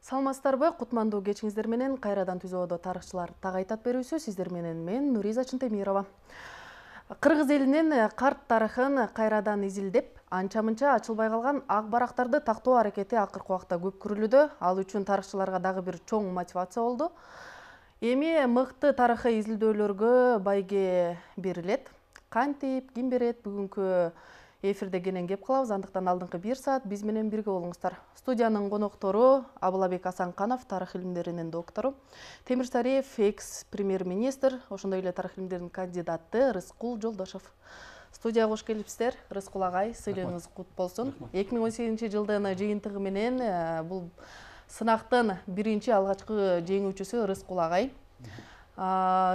Саламатсыздарбы? Кутмандуу кечиңиздер менен кайрадан түзөөдө тарыхчылар тагайтат берүүсү сиздер менен мен Нуриза Чынтемирова. Кыргыз элинин карт тарыхын кайрадан изилдеп, анча-мынча ачылбай калган ак барактарды тактоо аракети акыркы убакта көп көрүлүүдө. Ал үчүн тарыхчыларга дагы бир чоң мотивация болду. Эми мыкты тарыхый изилдөөлөргө байге берилет. Кантип, ким берет? Бүгүнкү эфирде кенен кеп калабыз. Андыктан алдыңкы 1 саат биз менен бирге болуңуздар. Студиянын коноктору Абылабек Асанканов, тарых илимдеринин доктору, Темир Сариев, экс-премьер-министр, ошондой эле тарых илимдеринин кандидаты Рыскул Жолдошов. Студияга кош келипсиздер. Рыскул агай, сыйлыгыңыз кут болсун. 2018-жылдын жыйынтыгы менен бул сынактын биринчи алгачкы жеңүүчүсү Рыскул агай.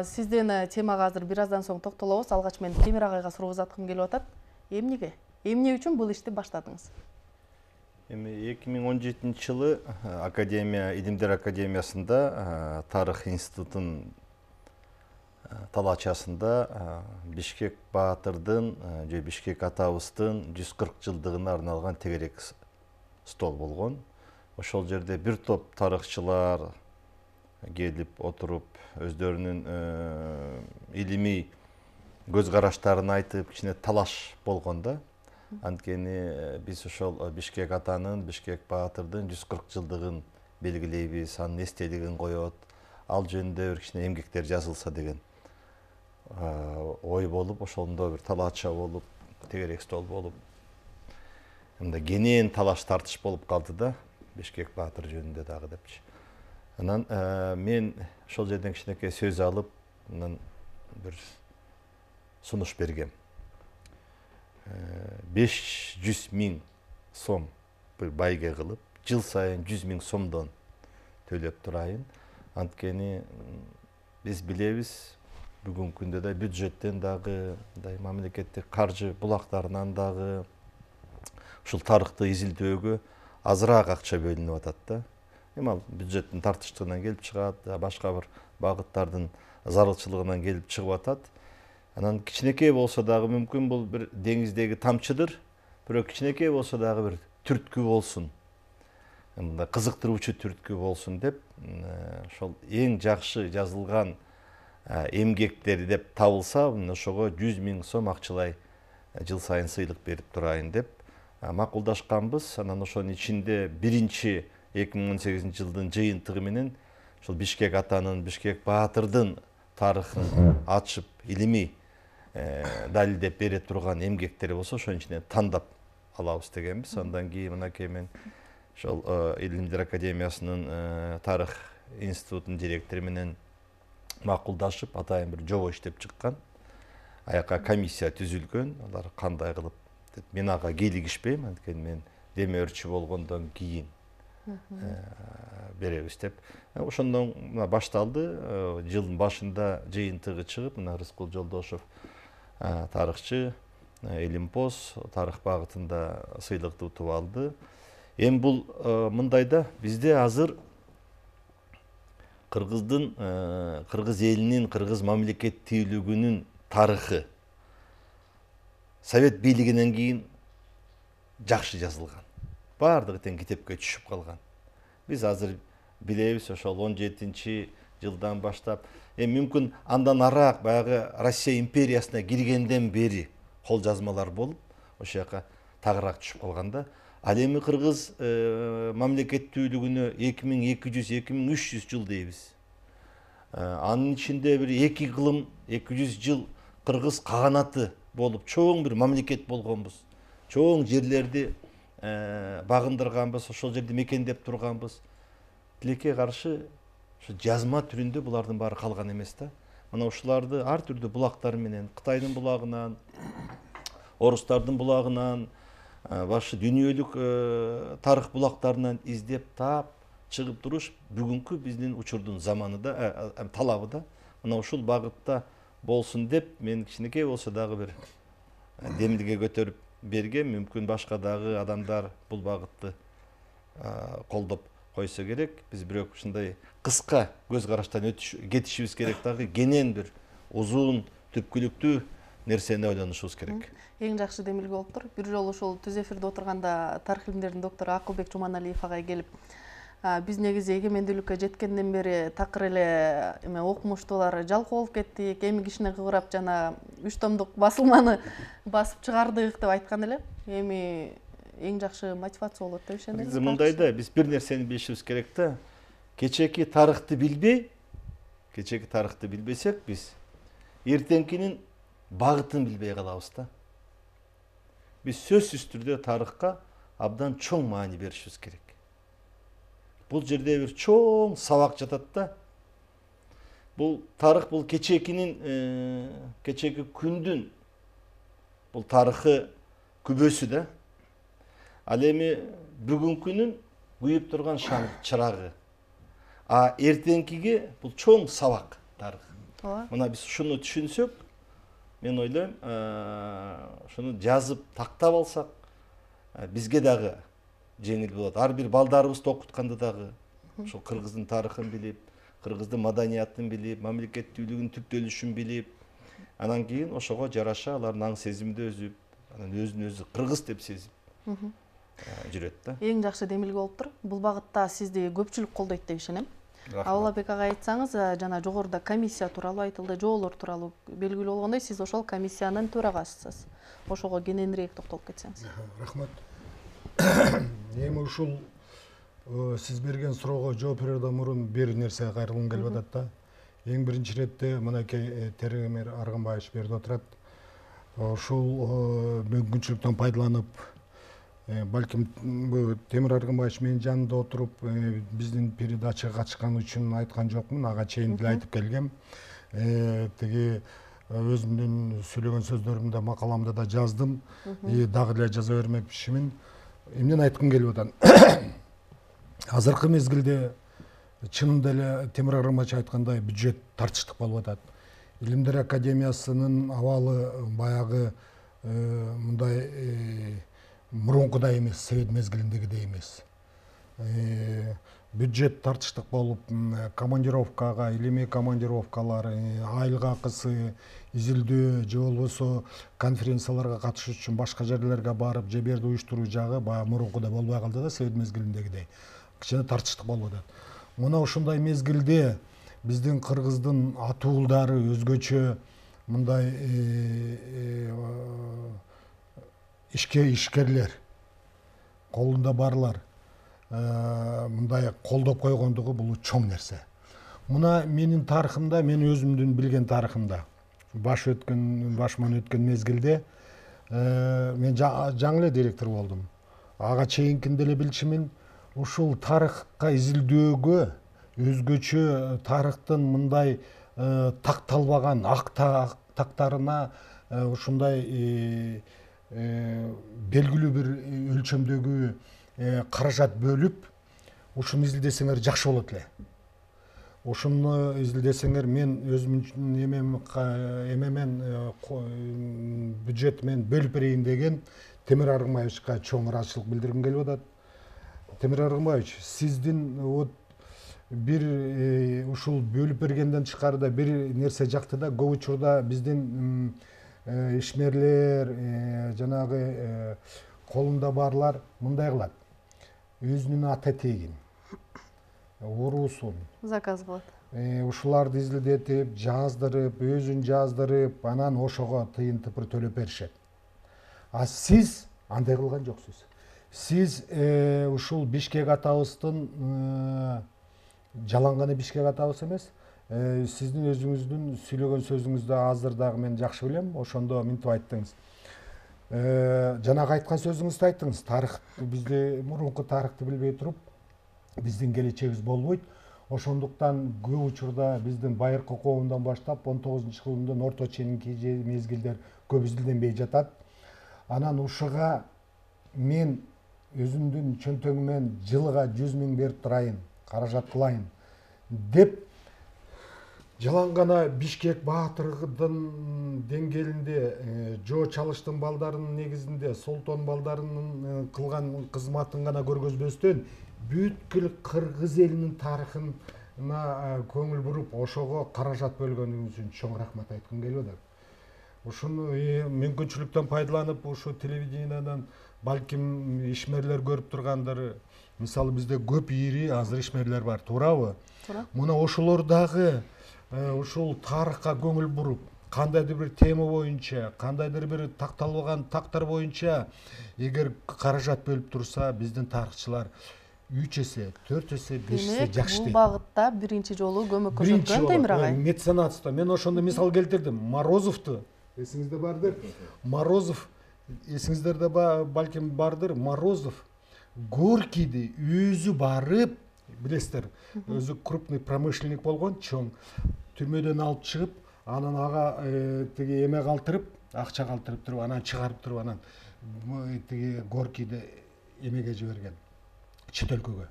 Сизден темага азыр бир аздан соң токтолобуз. Алгач мен Темир агайга суроо узаткым келип атат. Эмнеге? Эмне үчүн бул ишти баштадыңыз? Эми 2017-жылы Илимдер академиясында тарых институтунун талаачасында Бишкек Баатырдын же Бишкек атабыздын 140 жылдыгына арналган тегерек стол болгон. Ошол жерде бир топ тарыхчылар келип отуруп, өздөрүнүн илимий көз караштарын айтып, кичине талаш болгон да. Анткени биз ошол Бишкек атанын, Бишкек Баатырдын 140 жылдыгын белгилейбиз, анын эстелигин коет, ал жөнүндө бир кичине эмгектер жазылса деген ой болуп, ошондо бир талаача болуп, тегерек стол болуп, мындай кенен талаш тартыш болуп калды да, Бишкек Баатыр жөнүндө дагы депчи. Анан мен ошол жерден кичинекей сөз алып, анан бир сунуш бергем. 500 000 сом bir байге кылып, жыл сайын 100 000 сомдон төлөп турайын. Анткени биз билебиз, бүгүнкү күндө да бюджеттен дагы, мамлекеттик каржы булактарынан дагы ушул тарыхты изилдөөгө азыраак акча бөлүнүп атат да. Эми ал бюджеттин тартыштыгынан келип чыгат, башка бир багыттардын зарылчылыгынан келип чыгып атат. Анан кичинекей болсо дагы мүмкүн бул бир деңиздеги тамчыдыр, бирок кичинекей болсо дагы бир түрткү болсун. Мындай кызыктыруучу түрткү болсун деп, ошол эң жакшы жазылган эмгектери деп табылса, ошого 100 000 сом акчалай жыл сайын сыйлык берип турайын деп макулдашканбыз. Анан ошонун ичинде биринчи 2018-жылдын жыйынтыгы менен ошол Бишкек атанын, Бишкек Баатырдын тарыхын ачып, илимий далилдеп бере турган эмгектери болсо, ошонун ичинен тандап алабыз дегенбиз. Андан кийин мынакей мен ошол Илимдер академиясынын тарых институтунун директору менен макулдашып, атайын бир жобо иштеп чыккан. Аяка комиссия түзүлгөн. Алар кандай кылып деп, мен ага кийлигишпейм, анткени мен демөөрчү болгондон кийин беребиз деп. Ошондон башталды. Жылдын башында жыйынтыгы чыгып, мына Рыскул Жолдошов тарыхчы, Элимпоз тарых багытында сыйлыкты утуп алды. Эми бул мындай да, бизде азыр кыргыз элинин, кыргыз мамлекеттүүлүгүнүн тарыхы Совет бийлигинен кийин жакшы жазылган. Бардыгы тең китепке түшүп калган. Биз азыр билебиз, ошол 17-жылдан баштап, мүмкүн андан араак баягы Россия империясына киргенден бери кол жазмалар болуп, ошол жака тагыраак түшүп калган да. Ал эми кыргыз мамлекеттүүлүгүнө 2200-2300 жыл дейбиз. Анын ичинде бир 2 кылым 200 жыл кыргыз каганаты болуп, чоң бир мамлекет болгонбуз. Чоң жерлерди багындырганбыз, ошол жерде мекендеп турганбыз. Тилекке каршы жазма түрүндө булардын баары калган эмес да. Мына ушуларды ар түрдүү булактар менен, Кытайдын булагынан, орустардын булагынан, башка дүйнөлүк тарых булактарынан издеп таап чыгып туруш бүгүнкү биздин учурдун заманында, талабы да. Мына ушул багытта болсун деп, мен кичинекей болсо дагы бир демилге көтөрүп бергем. Мүмкүн башка дагы адамдар бул багытты колдоп койсо керек. Биз бирок ушундай кыска көз караштан кетишибиз керек дагы, кенен бир узун, түпкүлүктүү нерсени ойлонушубуз керек. Эң жакшы демилге болуптур. Бир жолу ушул түз эфирде отурганда тарых илимдеринин доктору Акылбек Жуманалиев агай келип Биз негизи эгемендүүлүккө жеткенден бери такыр эле эме окумуштуулар жалкоо болуп кеттик, эми кичине кыбырап жана 3 томдук басылманы басып чыгардык деп айткан эле. Эми эң жакшы мотивация болот деп ишенем. Негизи мындай да, биз бир нерсени билишибиз керек да. Кечээки тарыхты билбесек, биз эртеңкинин багытын билбей калабыз да. Биз сөзсүз түрдө тарыхка абдан чоң маани беришибиз керек. Бул жерде бир чоң сабак жатат да. Бул тарых, бул кечээки күндүн бул тарыхы күбөсү да. Ал эми бүгүнкүнүн күйүп турган чырагы. А эртеңкиге бул чоң сабак тарых. Мына биз ушуну түшүнсөк, мен ойлойм, ушуну жазып тактап алсак, бизге дагы жеңил болот. Ар бир балдарыбызды окутканда дагы ошол кыргыздын тарыхын билип, кыргыздын маданиятын билип, мамлекеттүүлүгүнүн түптөлүшүн билип, анан кийин ошого жараша алардын аң сезимди өзүп, анан өзүн өзү кыргыз деп сезип жүрөт да. Эң жакшы демилге болуптур. Бул багытта сизди көпчүлүк колдойт деп ишенем. Абылбек ага айтсаңыз, жана жогоруда комиссия тууралуу айтылды, жоолор тууралуу белгилүү болгондой, сиз ошол комиссиянын төрагасысыз. Ошого кененирээк токтолуп кетсеңиз. Рахмат. Эми ушул сиз берген суроого жооп берерден мурун бир нерсеге кайрылгым келип атат да. Эң биринчи иретте мынакей Темир Аргынбаевич берди отурат. Ушул мүмкүнчүлүктөн пайдаланып, балким Темир Аргынбаевич менин жанымда отуруп, биздин передачага катышкан үчүн айткан жокмун, ага чейин деле айтып келгем. Тиги өзүмдүн сүйлөгөн сөздөрүмдө, макаламда да жаздым, дагы эле жаза бермекчимин. Эмнени айткым келип атат? Азыркы мезгилде чынында эле Темир Аргынбаевич айткандай бюджет тартыштык болуп атат. Илимдер академиясынын абалы баягы мындай мурункудай эмес, Совет мезгилиндегидей эмес. Бюджет тартыштык болуп, командировкага, илимий командировкалар, айылга акысы, изилдөө же болбосо конференцияларга катышуу үчүн башка жерлерге барып, же берди уюштуруу жагы баягы мурункудай болбой калды да, Совет мезгилиндегидей. Кичине тартыштык болуп атат. Мына ушундай мезгилде биздин кыргыздын атуулдары өзгөчө мындай ишкерлер, колунда барлар мындай колдоп койгондугу бул чоң нерсе. Мына менин тарыхымда, мен өзүмдүн билген тарыхымда, башыман өткөн мезгилде мен жаңы эле директор болдум. Ага чейинкинде эле билчүмүн, ушул тарыхка изилдөөгө, өзгөчө тарыхтын мындай такталбаган ак тактарына ушундай белгилүү бир өлчөмдөгү каражат бөлүп, ушуну изилдесеңер жакшы болот эле. Ушуну изилдесеңер, мен өзүмдүн эмемен бюджет мен бөлүп берейин деген Темир Аргынбаевичка чоң ыраазычылык билдиргим келип атат. Темир Аргынбаевич, сиздин бир ушул бөлүп бергенден тышкарыда бир нерсе жакты да, көп учурда биздин ишмерлер, жанагы колунда барлар мындай кылат. Өзүнүн ата тегин, уруусун заказ кылат. Ушуларды изилдетип, жаздырып, өзүн жаздырып, анан ошого тыйын тыпыр төлөп беришет. А сиз андай кылган жоксуз. Сиз ушул Бишкек атабыздын жаланганы Бишкек атабыз эмес, сиздин өзүңүздүн сүйлөгөн сөзүңүздө азыр дагы мен жакшы билем, ошондо минтип айттыңыз. Жанагы айткан сөзүңүздө айттыңыз, тарых, бизде мурунку тарыхты билбей туруп, биздин келечегибиз болбойт. Ошондуктан көп учурда биздин байыркы коомдон баштап 19-кылымдын орто ченинки мезгилдер көп изилденбей жатат. Анан ушуга мен өзүмдүн чөнтөгүмөн жылга 100 000 берип турайын, каражат кылайын деп жалангана Бишкек баатырдын деңгээлинде, Жоо Чалыштын балдарынын негизинде, Солтон балдарынын кылган кызматын гана көргөзбөстөн, бүткүл кыргыз элинин тарыхына көңүл буруп, ошого каражат бөлгөнүңүз үчүн чоң рахмат айткым келип атат. ушуну мүмкүнчүлүктөн пайдаланып ушу телевидениyaдан балким ишмерлер көрүп тургандыр. Мисалы бизде көп ири азыр ишмерлер бар, туурабы? Туура. Мына ошолор дагы ушул тарыхка көңүл буруп, кандайдыр бир тема боюнча, кандайдыр бир такталбаган тактар боюнча эгер каражат бөлүп турса, биздин тарыхчылар 3 эсе, 4 эсе, 5 эсе жакшы бул дейт. багытта биринчи жолу көмөк көрсөткөн Темир агай. Меценатство. Мен ошондо мисал келтирдим. Морозовду эсиңизде бардыр. Морозов эсиңиздерде балким бардыр. Морозов Горькийди өзү барып, билесиздер, өзү крупный промышленник болгон, чоң түрмөдөн алып чыгып, анан ага тиги эме калтырып, акча калтырып туруп, анан чыгарып туруп, анан тиги Горькийди эмеге жиберген. Чет өлкөгө.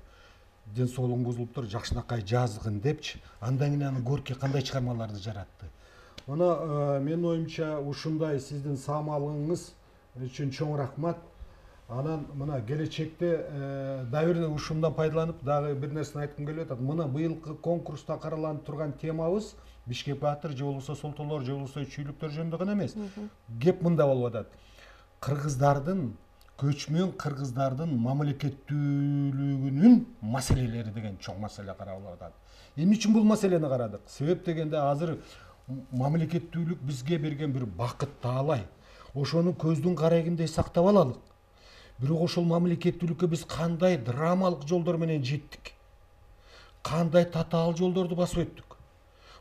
Ден соолугуң бузулуптур, жакшынакай жазгын депчи, андан кийин Горький кандай чыгармаларды жаратты. Мына менин оюмча ушундай сиздин саамалыгыңыз үчүн чоң рахмат. Анан мына келечекте дагы ушундан пайдаланып дагы бир нерсени айткым келип атат. Мына быйылкы конкурста караланып турган темабыз Бишкек баатыр же болбосо солтолор же болбосо чүйлүктөр жөнүндө гана эмес. Кеп мында болуп атат. Кыргыздардын, көчмөн кыргыздардын мамлекеттүүлүгүнүн маселелери деген чоң маселе каралып атат. Эмне үчүн бул маселени карадык? Себеп дегенде азыр мамлекеттүүлүк бизге берген бир бакыт таалай. Ошону көздүн карайгындай сактап алалык. Бирок ошол мамлекеттүүлүккө биз кандай драмалык жолдор менен жеттик? Кандай татаал жолдорду басып өттүк?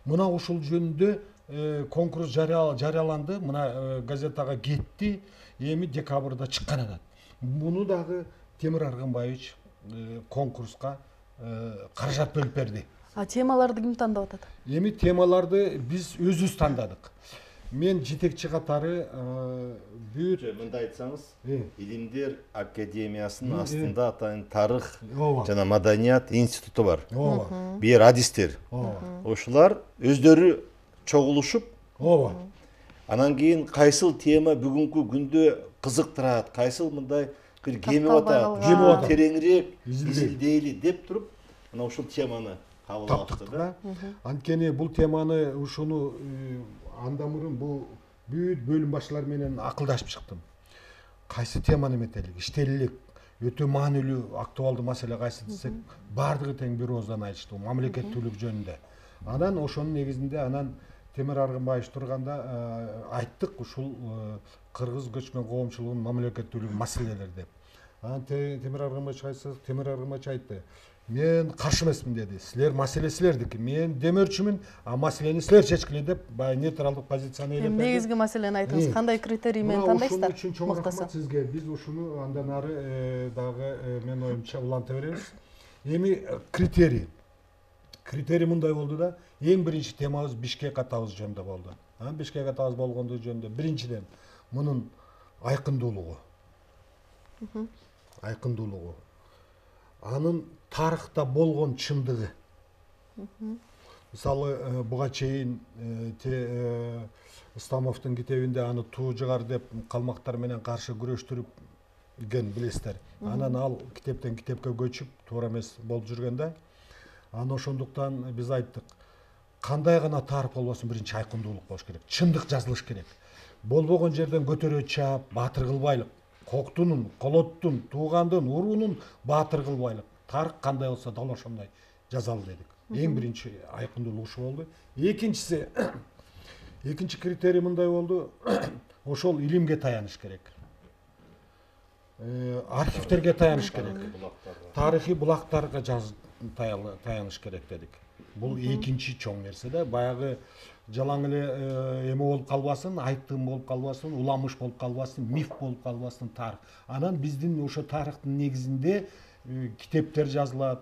Мына ошол жөнүндө конкурс жарыяланды. Мына газетага кетти. Эми декабрда чыккан атат. Муну дагы Темир Аргынбаевич конкурска каражат бөлүп берди. А темаларды ким тандап атат? Эми темаларды биз өзүбүз тандадык. Мен жетекчи катары бүт мындай айтсаңыз, Илимдер Илимдер академиясынын астында атайын тарых Ооба. жана маданият институту бар. Ооба. Бир адистер. Ооба. Ошолар өздөрү чогулушуп, Ооба. анан кийин кайсыл тема бүгүнкү күндө кызыктырат, кайсыл мындай бир кемип атат, тереңирээк изилдейли деп туруп, мына ушул теманы кабыл алышты да. Анткени бул теманы ушуну андан мурун бул бүт бөлүм башчылары менен акылдашып чыктым. Кайсы теманы эметелик, иштелелик, өтө маанилүү, актуалдуу маселе кайсы десек, бардыгы тең бир ооздан айтышты, мамлекеттүүлүк жөнүндө. Анан ошонун негизинде анан Темир Аргынбаевич турганда айттык ушул кыргыз көчмөн коомчулугунун мамлекеттүүлүгү маселелери деп. Анан Темир Аргынбаевич айтты: "Мен каршы эмесмин" деди. "Силер маселе силердики. Мен демөөрчүмүн, а маселени силер чечкиле" деп баягы нейтралдык позицияны ээлеп берди. Негизги маселени айтыңыз, кандай критерий менен тандайсыздар? Ошон үчүн чоң рахмат сизге. Биз ушуну андан ары дагы менин оюмча уланта беребиз. Эми критерий мындай болду да, эң биринчи темабыз Бишкек атабыз жөнүндө болду. Бишкек атабыз болгондугу жөнүндө биринчиден мунун айкындуулугу. Айкындуулугу. Анын тарыхта болгон чындыгы. Мисалы, буга чейин Исламовдун китебинде аны туу жыгар деп калмактар менен каршы күрөштүрүп билесиздер. Анан ал китептен китепке көчүп, туура эмес болуп жүргөн да. Аны ошондуктан биз айттык, кандай гана тарых болбосун, биринчи айкындуулук болуш керек. Чындык жазылыш керек. Болбогон жерден көтөрө чаап, баатыр кылбайлык. Коктунун, колоттун, туугандын, уруунун баатыр кылбайлык. Тарых кандай болсо дал ошондой жазалы дедик. Эң биринчи айкындуулук ушу болду. Экинчи критерий мындай болду. Ошол илимге таяныш керек. Архивтерге таяныш керек. Тарыхый булактарга таяныш керек дедик. Бул экинчи чоң нерсе да. Баягы жалаң эле эме болуп калбасын, айттым болуп калбасын, уламыш болуп калбасын, миф болуп калбасын тарых. Анан биздин ошо тарыхтын негизинде китептер жазылат,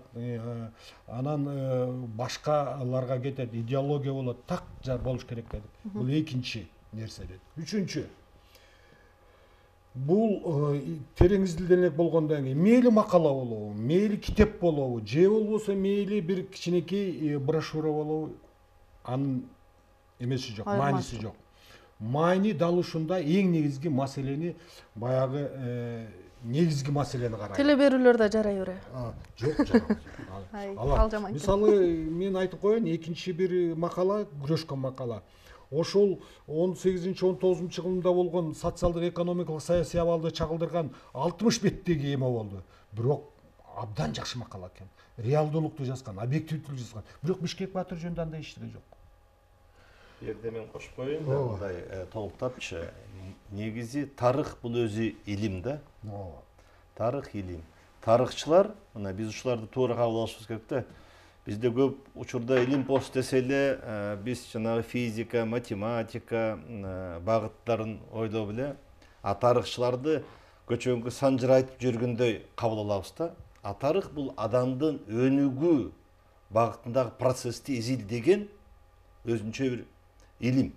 анан башкаларга кетет, идеология болот, так болуш керек дедик. Бул экинчи нерсе дедик. Үчүнчү, бул терең изилденек болгондон кийин мейли макала болобу, мейли китеп болобу, же болбосо мейли бир кичинекей брошюра болобу, анын эмеси жок, мааниси жок. Маани дал ушунда эң негизги маселени, баягы негизги маселени карайт. Теле берүүлөрдө жарай бере. Жок, жарабайт. Ал жаман. Мисалы, мен айтып коеюн, экинчи бир макала, күрөшкөн макала. ошол 18-19 кылымда болгон социалдык экономикалык саясий абалды чагылдырган 60 беттеги эме болду. Бирок абдан жакшы макала экен. Реалдуулукту жазган, объективдүүлүктү жазган. Бирок Бишкек Баатыр жөнүндө андай эчтеке жок. Жерде мен кошпоюн да, мындай толуктапчы. Негизи тарых бул өзү илим да. Тарых илим. Тарыхчылар, мына биз ушуларды туура кабыл алышыбыз керек да. Бизде көп учурда илим пост десе эле биз жанагы физика, математика багыттарын ойлоп эле, тарыхчыларды көчөңкү санжырайтып жүргөндөй кабыл алабыз да. Тарых бул адамдын өнүгүү багытындагы процессти изилдеген өзүнчө бир илим.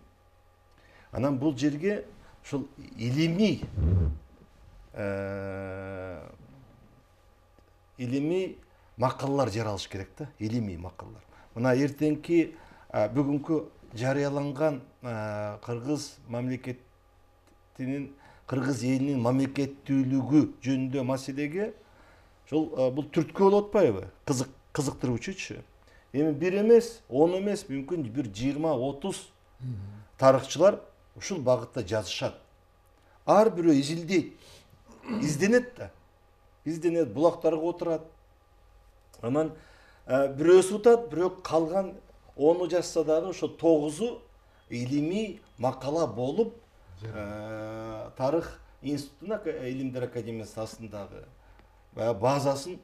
Анан бул жерге ушул илимий макалалар жаралыш керек да, илимий макалалар. Мына эртеңки бүгүнкү жарыяланган кыргыз мамлекетинин, кыргыз элинин мамлекеттүүлүгү жөнүндө маселеге ушул бул түрткү болуп атпайбы? Кызыктыруучучу. Эми бир эмес, 10 эмес, мүмкүн бир 20-30 тарыхчылар ушул багытта жазышат. Ар бирөө изилдейт, изденет да. Изденет, булактарга отурат. Анан бирөөсү утат, бирок калган 10 жазса дагы ошо 9 илимий макала болуп тарых институтунун илимдер академиясы астындагы базасын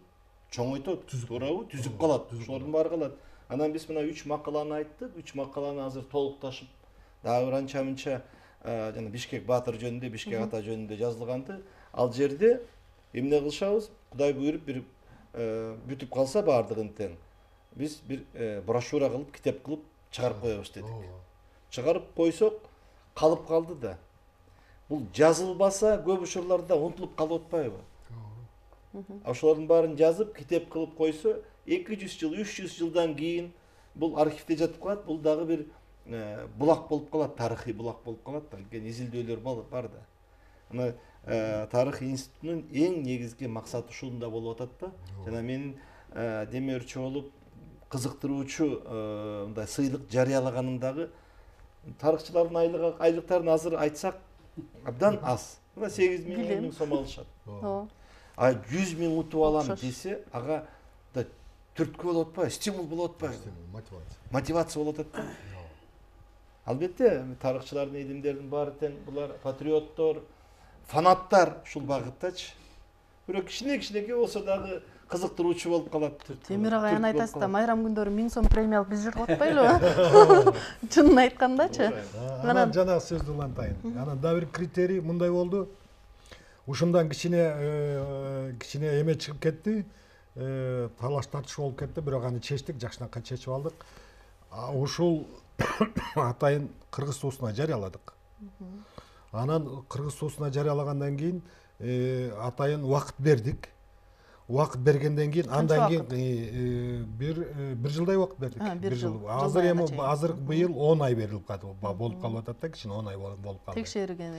чоңойтот, туурабы, түзүп калат. Ошолордун баары калат. Анан биз мына 3 макаланы айттык. 3 макаланы азыр толукташып, дагы бир анча-мынча жана Бишкек Баатыр жөнүндө, Бишкек ата жөнүндө жазылганды. Ал жерде эмне кылышабыз? Кудай буйруп бир бүтүп калса баардыгын тең. Биз бир брошюра кылып, китеп кылып чыгарып коебуз дедик. Чыгарып койсок, калып калды да. Бул жазылбаса көп учурларда унутулуп калып атпайбы? Ошолордун баарын жазып, китеп кылып койсо, 200 жыл, 300 жылдан кийин бул архивде жатып калат. Бул дагы бир булак болуп калат, тарыхый булак болуп калат. Анткени изилдөөлөр бар да. Мына тарых институтунун эң негизги максаты ушунда болуп атат да. Жана менин демөөрчү болуп кызыктыруучу мындай сыйлык жарыялаганым дагы тарыхчылардын айлыктарын азыр айтсак абдан аз. Мына 8 миң, 10 миң сом алышат. 100 миң утуп алам десе, ага да түрткү болуп атпайбы, стимул болуп атпайбы? Мотивация болуп атат да. Албетте, тарыхчылардын илимдердин баары тең булар патриоттор, фанаттар ушул багыттачы. Бирок кичинекей болсо дагы кызыктыруучу болуп калат. Темир агай айтасыз да, майрам күндөрү 1000 сом премиялык биз жүрүп атпайлыбы? Чынын айткандачы. Анан жанагы сөздү улантайын. Анан да бир критерий мындай болду. Ушундан кичине эме чыгып кетти. Талаш тартыш болуп кетти, бирок аны чечтик, жакшынакай чечип алдык. Ушул атайын Кыргыз суусуна жарыяладык. Анан Кыргыз суусуна жарыялагандан кийин атайын убакыт бердик. Убакыт бергенден кийин, андан кийин бир жылдай убакыт бердик. Бир жыл. Азыр быйыл 10 ай берилип калды. Болуп калып атат да, кичине 10 ай болуп калды. Текшерген,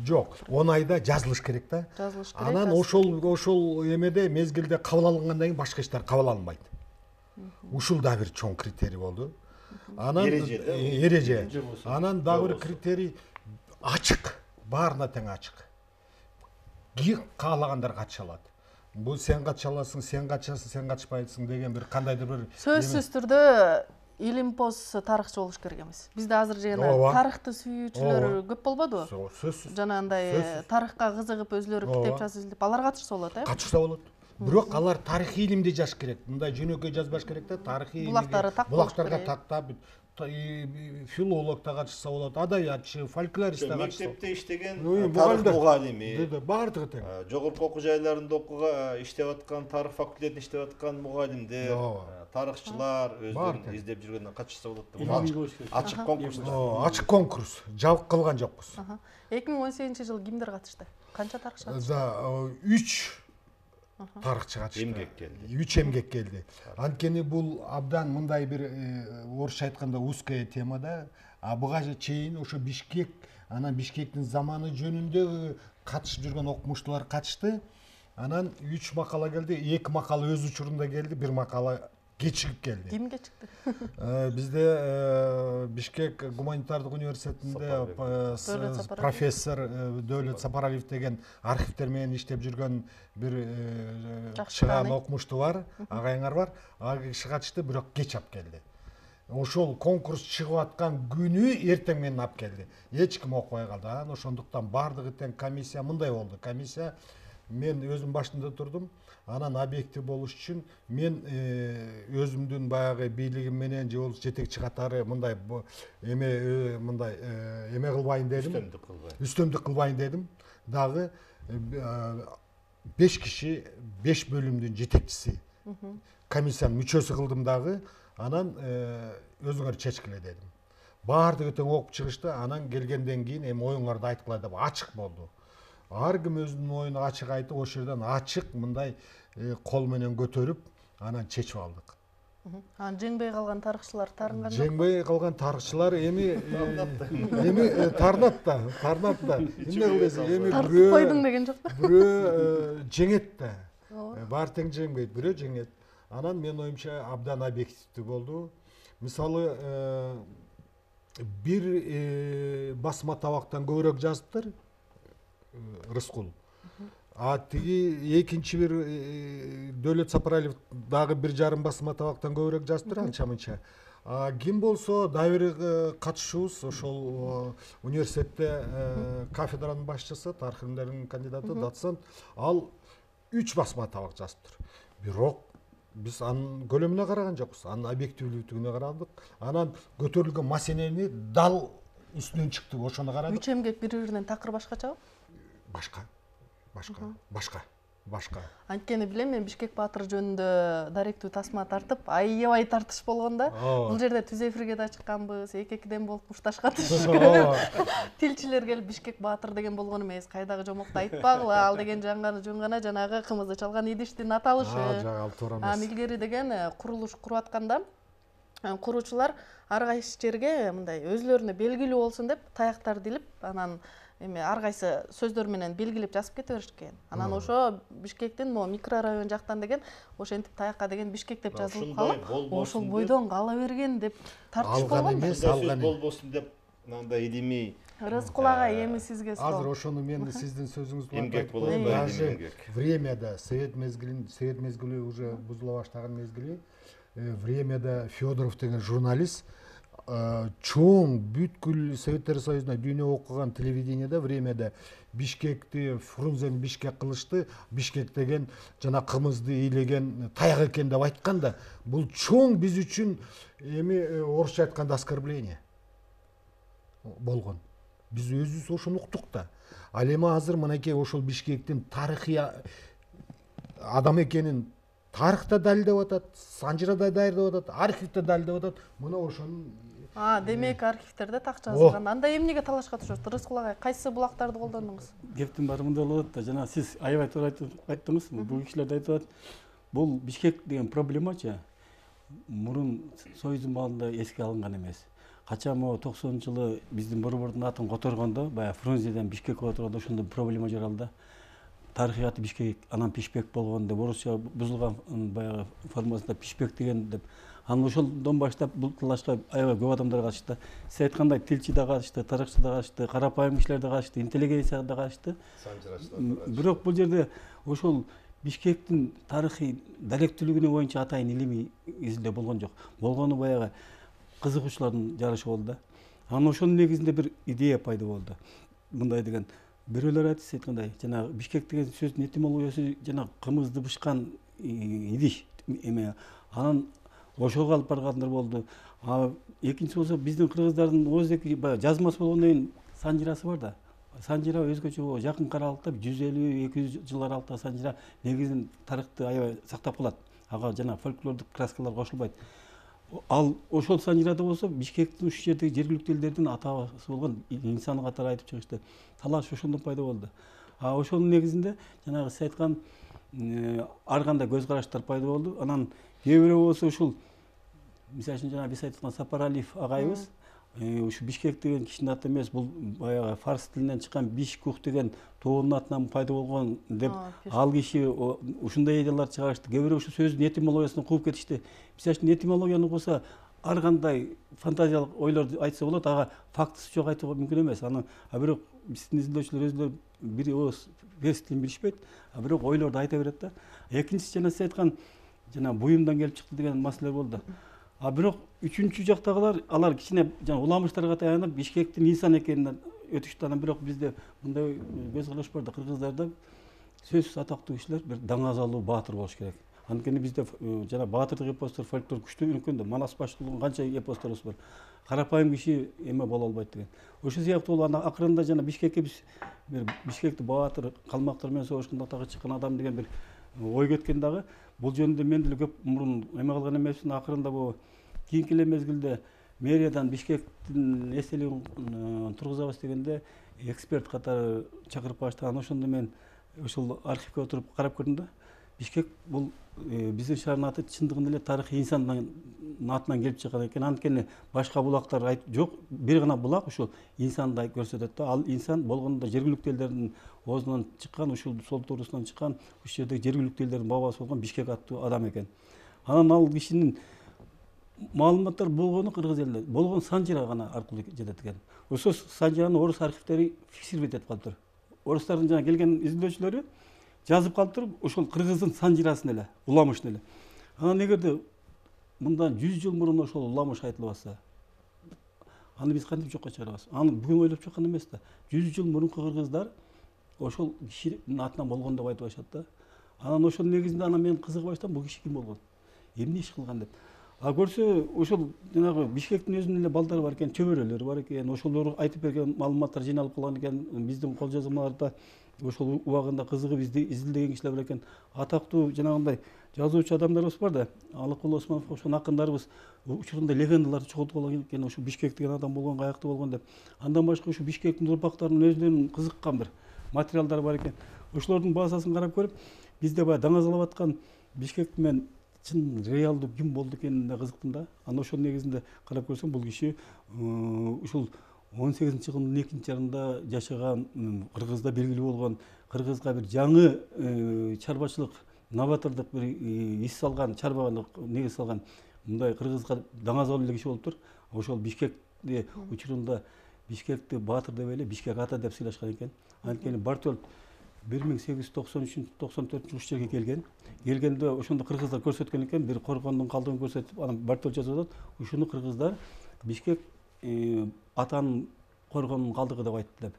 Жок, 10 айда жазылыш керек да. Жазылыш керек. Анан ошол эмеде мезгилде кабыл алынгандан кийин башка иштер кабыл алынбайт. Ушул да бир чоң критерий болду. Анан эреже. Анан дагы бир критерий ачык, баарына тең ачык. Каалагандар катыша алат. Бул сен катыша аласың, сен катышасың, сен катышпайсың деген бир кандайдыр бир сөзсүз түрдө илимпоз тарыхчы болуш керек эмес. Бизде азыр жана тарыхты сүйүүчүлөр көп болбодубу? Сөзсүз. Жанагындай тарыхка кызыгып өзүлөрү китеп жазып, алар катышса болот, Катышса болот. Бирок алар тарыхый илимди жазыш керек. Мындай жөнөкөй жазбаш керек да, тарыхый булактарга тактап, филолог да катышса болот, адаятчы, фольклорист да катышса. Мектепте иштеген тарых мугалими, баардыгы тең. Жогорку окуу жайларында иштеп аткан, тарых факультетинде иштеп аткан мугалимдер, тарыхчылар өздөрүн издеп жүргөндөн катышса болот да. Ачык конкурс. Ачык конкурс. Жабык кылган жокпуз. 2018-жылы кимдер катышты? Канча тарыхчы катышты? 3 тарыхчы катышты. Эмгек келди. 3 эмгек келди. Анткени бул абдан мындай бир орусча айтканда узкая тема да. Буга чейин ошо Бишкек, анан Бишкектин заманы жөнүндө катышып жүргөн окумуштуулар катышты. Анан 3 макала келди, 2 макала өз учурунда келди, 1 макала кечигип келди. Ким кечикти? Бизде Бишкек гуманитардык университетинде профессор Дөөлөт Сапаралиев деген архивдер менен иштеп жүргөн бир чыгаан окумуштуу бар, агайыңар бар. Ал киши катышты, бирок кеч алып келди. Ошол конкурс чыгып аткан күнү эртең менен алып келди. Эч ким окубай калды. Анан ошондуктан бардыгы тең комиссия мындай болду. Комиссия мен өзүм башында турдум. Анан объектив болуш үчүн мен өзүмдүн баягы бийлигим менен же болбосо жетекчи катары мындай кылбайын дедим. Үстөмдүк кылбайын дедим. Дагы 5 киши 5 бөлүмдүн жетекчиси. Комиссиянын мүчөсү кылдым дагы. Анан өзүңөр чечкиле дедим. Баардыгы тең окуп чыгышты. Анан келгенден кийин эми оюңарды айткыла деп ачык болду. Ар ким өзүнүн оюн ачык айтып, ошол жерден ачык мындай кол менен көтөрүп, анан чечип алдык. Анан жеңбей калган тарыхчылар тарынган жок? Жеңбей калган тарыхчылар эми тарнат да. Эмне кылдыңыз? Эми тартып койдуң деген жок. Бирөө жеңет да. Баары тең жеңбейт, бирөө жеңет. Анан мен оюмча абдан объективдүү болду. Мисалы, бир басма табактан көбүрөөк жазыптыр. Рыскул. Тиги экинчи бир Дөөлөт Сапаралиев дагы 1,5 басма табактан көбүрөөк жазыптыр анча-мынча. Ким болсо дагы бир катышуубуз ошол университетте кафедранын башчысы, тарых илимдеринин кандидаты, доцент, ал 3 басма табак жазыптыр. Бирок биз анын көлөмүнө караган жокпуз, анын объективдүүлүгүнө карадык. Анан көтөрүлгөн маселени дал үстүнөн чыктык, ошону карадык. Үч эмгек бири-биринен такыр башкачабы? Башка. Анткени билем, мен Бишкек Баатыр жөнүндө даректүү тасма тартып, аябай тартыш болгон да. Бул жерде түз эфирге да чыкканбыз, эки-экиден болуп мушташкатышып. Тилчилер келип Бишкек Баатыр деген болгон эмес, кайдагы жомокту айтпагыла, ал деген жөн гана жанагы кымызды чалган идиштин аталышы. Илгери деген курулуш куруп атканда, куруучулар ар кайсы жерге мындай өзлөрүнө белгилүү болсун деп таяктарды илип, анан ар кайсы сөздөр менен белгилеп жазып кете беришкен. Анан ошо Бишкектин могу микрорайон жактан деген ошентип таякка деген Бишкек деп жазылып калып, ошол бойдон кала берген деп тартыш болгон. Алган болбосун деп мындай илимий. Рыскул агай, эми сизге суроо. Азыр ошону мен сиздин сөзүңүз менен эмгек болот, даже времяда совет мезгили уже бузула баштаган мезгили, времяда Федоров деген журналист чоң бүткүл Советтер Союзуна дүйнө окуган телевидениеде времяда Бишкекти Фрунзени Бишкек кылышты, Бишкек деген жана кымызды ыйлеген таяк экен деп айтканда, бул чоң биз үчүн эми орусча айтканда оскорбление болгон. Биз өзүбүз ошону уктук да. Ал эми азыр мынакей ошол Бишкектин тарыхый адам экенин тарыхта далилдеп атат, санжырада далилдеп атат, архивде далилдеп атат. Мына ошонун демек архивтерде так жазылган. Анда эмнеге талашка түшөт? Рыскул агай, кайсы булактарды колдондуңуз? Кептин баары мындай болот да, жана сиз аябай туура айттыңыз. Бул кишилер да айтып атат. Бул Бишкек деген проблемачы мурун Союздун маалында эске алынган эмес. Качан могу 90-жылы биздин борбордун атын которгондо, баягы Фрунзеден Бишкекке отургондо ошондо проблема жаралды. Тарыхый аты Бишкек, анан Пишпек болгон деп, орусча бузулган баягы формасында Пишпек деген деп. Анан ошондон баштап бул талашка аябай көп адамдар катышты. Сиз айткандай тилчи да катышты, тарыхчы да катышты, карапайым кишилер да катышты, интеллигенция да катышты. Бирок бул жерде ошол Бишкектин тарыхый даректүүлүгүнө боюнча атайын илимий изилдөө болгон жок. Болгону баягы кызыгуучулардын жарышы болду да. Анан ошонун негизинде бир идея пайда болду. Мындай деген бирөөлөр айткандай, жанагы Бишкек деген сөздүн этимологиясы жанагы кымызды бышкан идиш эме. Анан ошого алып баргандар болду. Экинчи болсо биздин кыргыздардын ооздеги баягы жазмасы болгондон кийин санжырасы бар да. Санжыра өзгөчө жакын каралыкта 150-200 жыл аралыкта санжыра негизин тарыхты аябай сактап калат. Ага жана фольклордук краскалар кошулбайт. Ал ошол санжырада болсо Бишкектин ушул жердеги жергиликтүү элдердин атасы болгон инсаны катары айтып чыгышты. Талаш ошондон пайда болду. Ошонун негизинде жанагы сиз айткан ар кандай көз караштар пайда болду. Анан кээ бирөө болсо ушул мисалы үчүн жана биз айткан Сапаралиев агайыбыз ушу Бишкек деген кишинин аты эмес, бул баягы фарс тилинен чыккан Бишкук деген тоонун атынан пайда болгон деп ал киши ушундай идеялар чыгарышты. Кээ бирөө ушу сөздүн этимологиясын кууп кетишти. Мисалы үчүн этимологияны куса ар кандай фантазиялык ойлорду айтса болот, ага фактысы жок айтууга мүмкүн эмес. А бирок биздин изилдөөчүлөр өзүлөрү бир ооз фарс тилин билишпейт, а бирок ойлорду айта берет да. Экинчиси жана сиз айткан жана буюмдан келип чыкты деген маселелер болду. А бирок үчүнчү жактагылар алар кичине жана уламыштарга таянып Бишкектин инсан экенин өтүштү. Анан бирок бизде мындай көз караш бар да, кыргыздарда сөзсүз атактуу кишилер бир даңазалуу баатыр болуш керек. Анткени бизде жана баатырдык эпостор, фольклор күчтүү өнүккөн да, Манас башкулдун канча эпосторубуз бар. Карапайым киши эме боло албайт деген. Ошол сыяктуу анан акырында жана Бишкекке биз бир Бишкекти баатыр, калмактар менен согушканда атага чыккан адам деген бир ой кеткен дагы. Бул жөнүндө мен деле көп мурун эме кылган эмесмин. Акырында бул кийинки эле мезгилде мэриядан Бишкектин эстелигин тургузабыз дегенде эксперт катары чакырып барышты. Анан ошондо мен ошол архивге отуруп карап көрдүм да. Бишкек бул биздин шаардын аты чындыгында эле тарыхый инсандын атынан келип чыккан экен. Анткени башка булактар жок, бир гана булак ушул инсанды көрсөтөт да. Ал инсан болгондо жергиликтүү элдердин оозунан чыккан, ушул сол туурусунан чыккан, ушул жердеги жергиликтүү элдердин бабасы болгон Бишкек аттуу адам экен. Анан ал кишинин маалыматтар болгону кыргыз элинде, болгон Санжира гана аркылуу жетет экен. Ошол Санжираны орус архивдери фиксировать этип калыптыр. Орустардын жана келген изилдөөчүлөрү жазып калыптыр, ошол кыргыздын Санжирасын эле, уламышын эле. Анан эгерде мындан 100 жыл мурун ошол уламыш айтылып атса, аны биз кантип жокко чыгарабыз? Аны бүгүн ойлоп чыккан эмес да. 100 жыл мурунку кыргыздар ошол кишинин атынан болгон деп айтып атышат да. Анан ошонун негизинде анан мен кызыга баштадым, бул киши ким болгон? Эмне иш кылган деп. А көрсө ошол жанагы Бишкектин өзүнүн эле балдары бар экен, чөбөрөлөрү бар экен. Ошолор айтып берген маалыматтар жыйналып калган экен. Биздин кол жазмаларда ошол убагында кызыгып изилдеген кишилер бар экен. Атактуу жанагындай жазуучу адамдарыбыз бар да, Алыкулы Осмоновго окшогон акындарыбыз учурунда легендаларды чогулткан экен, ошо Бишкек деген адам болгон, каяктуу болгон деп. Андан башка ошо Бишкектин урпактарынын өзүнүн кызыккан бир материалдары бар экен. Ошолордун базасын карап көрүп, бизде баягы даңазалап аткан Бишкекти мен чын реалдуу ким болду экенине кызыктым да. Анан ошонун негизинде карап көрсөм, бул киши ушул 18-кылымдын экинчи жарында жашаган, кыргызда белгилүү болгон, кыргызга бир жаңы чарбачылык, новатордук бир ис салган, чарбалык негиз салган, мындай кыргызга даңазалуу эле киши болуптур. Ошол Бишкекти учурунда Бишкекти баатыр деп эле Бишкек ата деп сыйлашкан экен. Анткени Бартолд 1893-94 ушул жерге келген. Келгенде ошондо кыргыздар көрсөткөн экен, бир коргондун калдыгын көрсөтүп, анан Бартолд жазып атат. Ушуну кыргыздар Бишкек атанын коргонунун калдыгы деп айтты деп.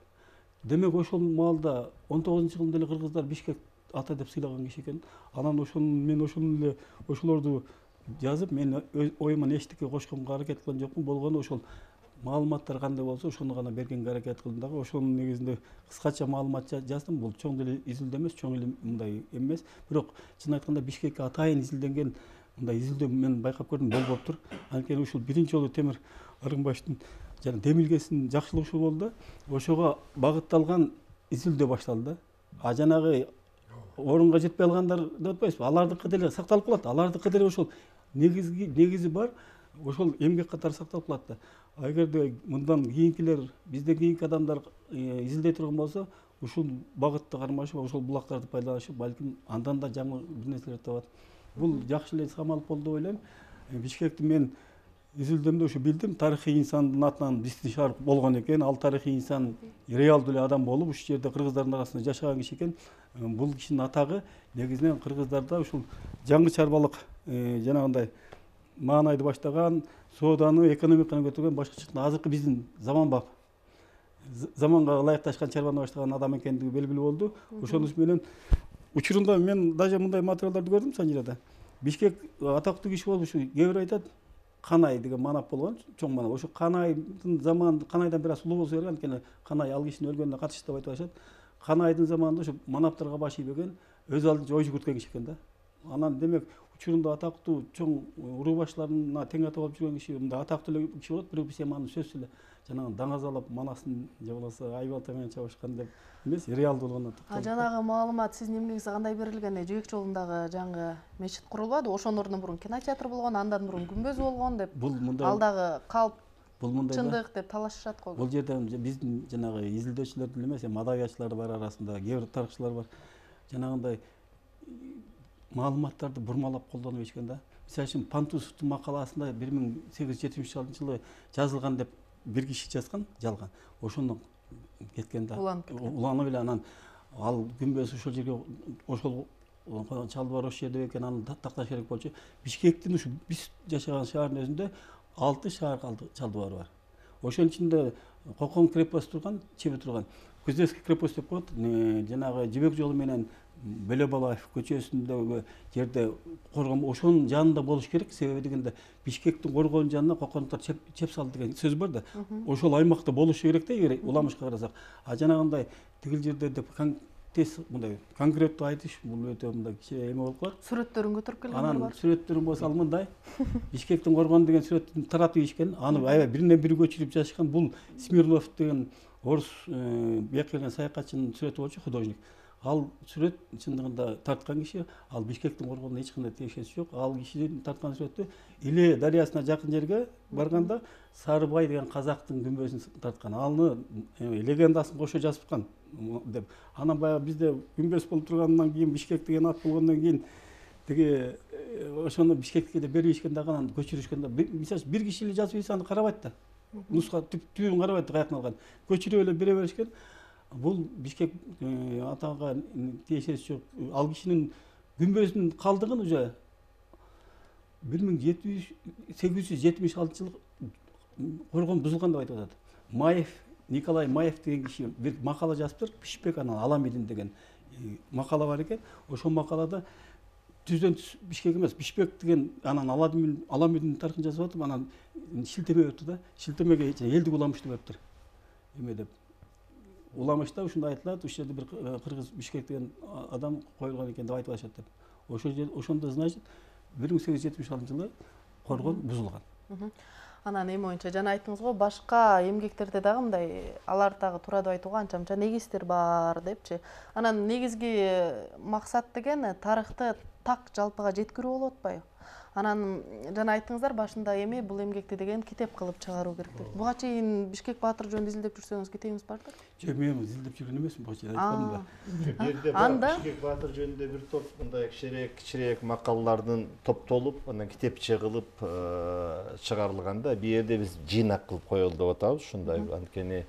Демек ошол маалда 19-кылымда эле кыргыздар Бишкек ата деп сыйлаган киши экен. Анан мен ошону эле ошолорду жазып, мен оюман эчтеке кошконго аракет кылган жокмун. Болгону ошол маалыматтар кандай болсо, ошону гана бергенге аракет кылдым дагы. Ошонун негизинде кыскача маалымат жаздым. Бул чоң деле изилдөө эмес, чоң эле мындай эмес. Бирок чын айтканда Бишкекке атайын изилденген мындай изилдөө мен байкап көрдүм, болбоптур. Анткени ушул биринчи жолу Темир Аргынбаевдин жана демилгесинин жакшылыгы болду да. Ошого багытталган изилдөө башталды да. А жанагы орунга жетпей алгандар деп атпайсызбы? Алардыкы деле сакталып калат. Алардыкы деле ошол негизи бар. Ошол эмгек катары сакталып калат да. А эгерде мындан кийинкилер, бизден кийинки адамдар изилдей турган болсо, ушул багытты кармашып, ошол булактарды пайдаланышып, балким андан да жаңы бир нерселер табат. Бул жакшы эле самалып болду деп ойлойм. Бишкекти мен изилдөмдө ушу билдим, тарыхый инсандын атынан биздин шаар болгон экен. Ал тарыхый инсан реалдуу эле адам болуп, ушул жерде кыргыздардын арасында жашаган киши экен. Бул кишинин атагы негизинен кыргыздарда ушул жаңы чарбалык жанагындай маанайды баштаган, сооданы, экономиканы көтөргөн, башкача айтканда азыркы биздин заманга ылайыкташкан чарбаны баштаган адам экендиги белгилүү болду. Ошонун менен учурунда мен даже мындай материалдарды көрдүм Санжирада. Бишкек атактуу киши болуп, ушу кээ бир айтат, Канай деген манап болгон, чоң манап. Ошо Канайдын заманында, Канайдан бир аз улуу болсо керек, анткени Канай ал кишинин өлгөнүнө катышты деп айтып атышат. Канайдын заманында ошо манаптарга баш ийбеген, өз алдынча ой жүгүрткөн киши экен да. Анан демек учурунда атактуу чоң уруу башларына тең ата болуп жүргөн киши, мындай атактуу эле киши болот, бирок биз эми аны сөзсүз эле жанагы даңазалап Манасын же болбосо Айбалта менен чабышкан деп эмес, реалдуу болгону. Жанагы маалымат сиздин эмгегиңизде кандай берилген? Жөөк жолундагы жаңы мечит курулбады, ошонун ордуна мурун кинотеатр болгон, андан мурун күмбөз болгон деп. Ал дагы калп Бул мындай чындык деп талашышат го. Бул жерде биздин жанагы изилдөөчүлөр деле эмес, мадавиятчылар бар арасында, кээ бир тарыхчылар бар. Жанагындай маалыматтарды бурмалап колдонуп ичкен да. Мисалы үчүн Пантусовдун макаласында 1876 жылы жазылган деп бир киши жазган, жалган. Ошону кеткен да. Уланып эле анан ал күмбөз ошол жерге ошол чалбар ошол жерде экен, аны такташ керек болчу. Бишкектин ушу биз жашаган шаардын өзүндө 6 шаар чалбар бар. Ошонун ичинде Кокон крепост турган, чеби турган. Кузнецкий крепост деп коет. Жанагы Жибек жолу менен Бөлөбалаев көчөсүндөгү жерде коргон, ошонун жанында болуш керек. Себеби дегенде Бишкектин коргоонун жанына кокондуктар чеп салды деген сөз бар да. Ошол аймакта болушу керек да, эгер уламышка карасак. А жанагындай тигил жерде деп тез мындай конкреттүү айтыш бул өтө мындай кичине эме болуп калат. Сүрөттөрүн көтөрүп келгендер бар. Анан сүрөттөрүн болсо ал мындай Бишкектин коргону деген сүрөттүн таратып ийишкен. Аны аябай биринен бири көчүрүп жазышкан. Бул Смирнов деген орус бияка келген саякатчынын сүрөтү болчу, художник. Ал сүрөт чындыгында тарткан киши, ал Бишкектин коргонуна эч кандай тиешеси жок. Ал кишинин тарткан сүрөтү Иле дарыясына жакын жерге барганда Сарыбай деген казактын күмбөзүн тарткан. Аны легендасын кошо жазышкан деп. Анан баягы бизде күмбөз болуп тургандан кийин Бишкек деген ат болгондон кийин тиги ошону Бишкекке деп беришкен дагы, анан көчүрүшкөн да. Мисалы бир киши эле жазып ийсе аны карабайт да. Нуска түбүн карабайт, каяктан алган. Көчүрүп эле бере беришкен. Бул Бишкек атага тиешеси жок. Ал кишинин күмбөзүнүн калдыгын уже 1876 жылы коргон бузулган деп айтып атат. Маев, Николай Маев деген киши бир макала жазыптыр. Бишбек анан Аламидин деген макала бар экен. Ошол макалада түздөн түз Бишкек эмес, Бишбек деген анан Аламидин тарыхын жазып атып, анан шилтеме өттү да. Шилтемеге элдик уламышты коюптур. Эме деп. Уламышта ушундай айтылат, ушул жерде бир кыргыз Бишкек деген адам коюлган экен деп айтып атышат деп. Ошондо значит 1876 жылы коргон бузулган. Анан эми боюнча жана айттыңыз го, башка эмгектерде дагы мындай алар дагы туура деп айтууга анча-мынча негиздер бар депчи. Анан негизги максат деген тарыхты так жалпыга жеткирүү болуп атпайбы? Анан жана айттыңыздар башында эми бул эмгекти деген китеп кылып чыгаруу керек деп. Буга чейин Бишкек Баатыр жөнүндө изилдеп жүрсөңүз китебиңиз бардыр? Жок, мен изилдеп жүргөн эмесмин, буга чейин айткандым да. Бу жерде Бишкек Баатыр жөнүндө бир топ мындай кичирээк макалалардын топтолуп, анан китепче кылып чыгарылган да. Бу жерде биз жыйнак кылып коелу деп атабыз, ушундай анткени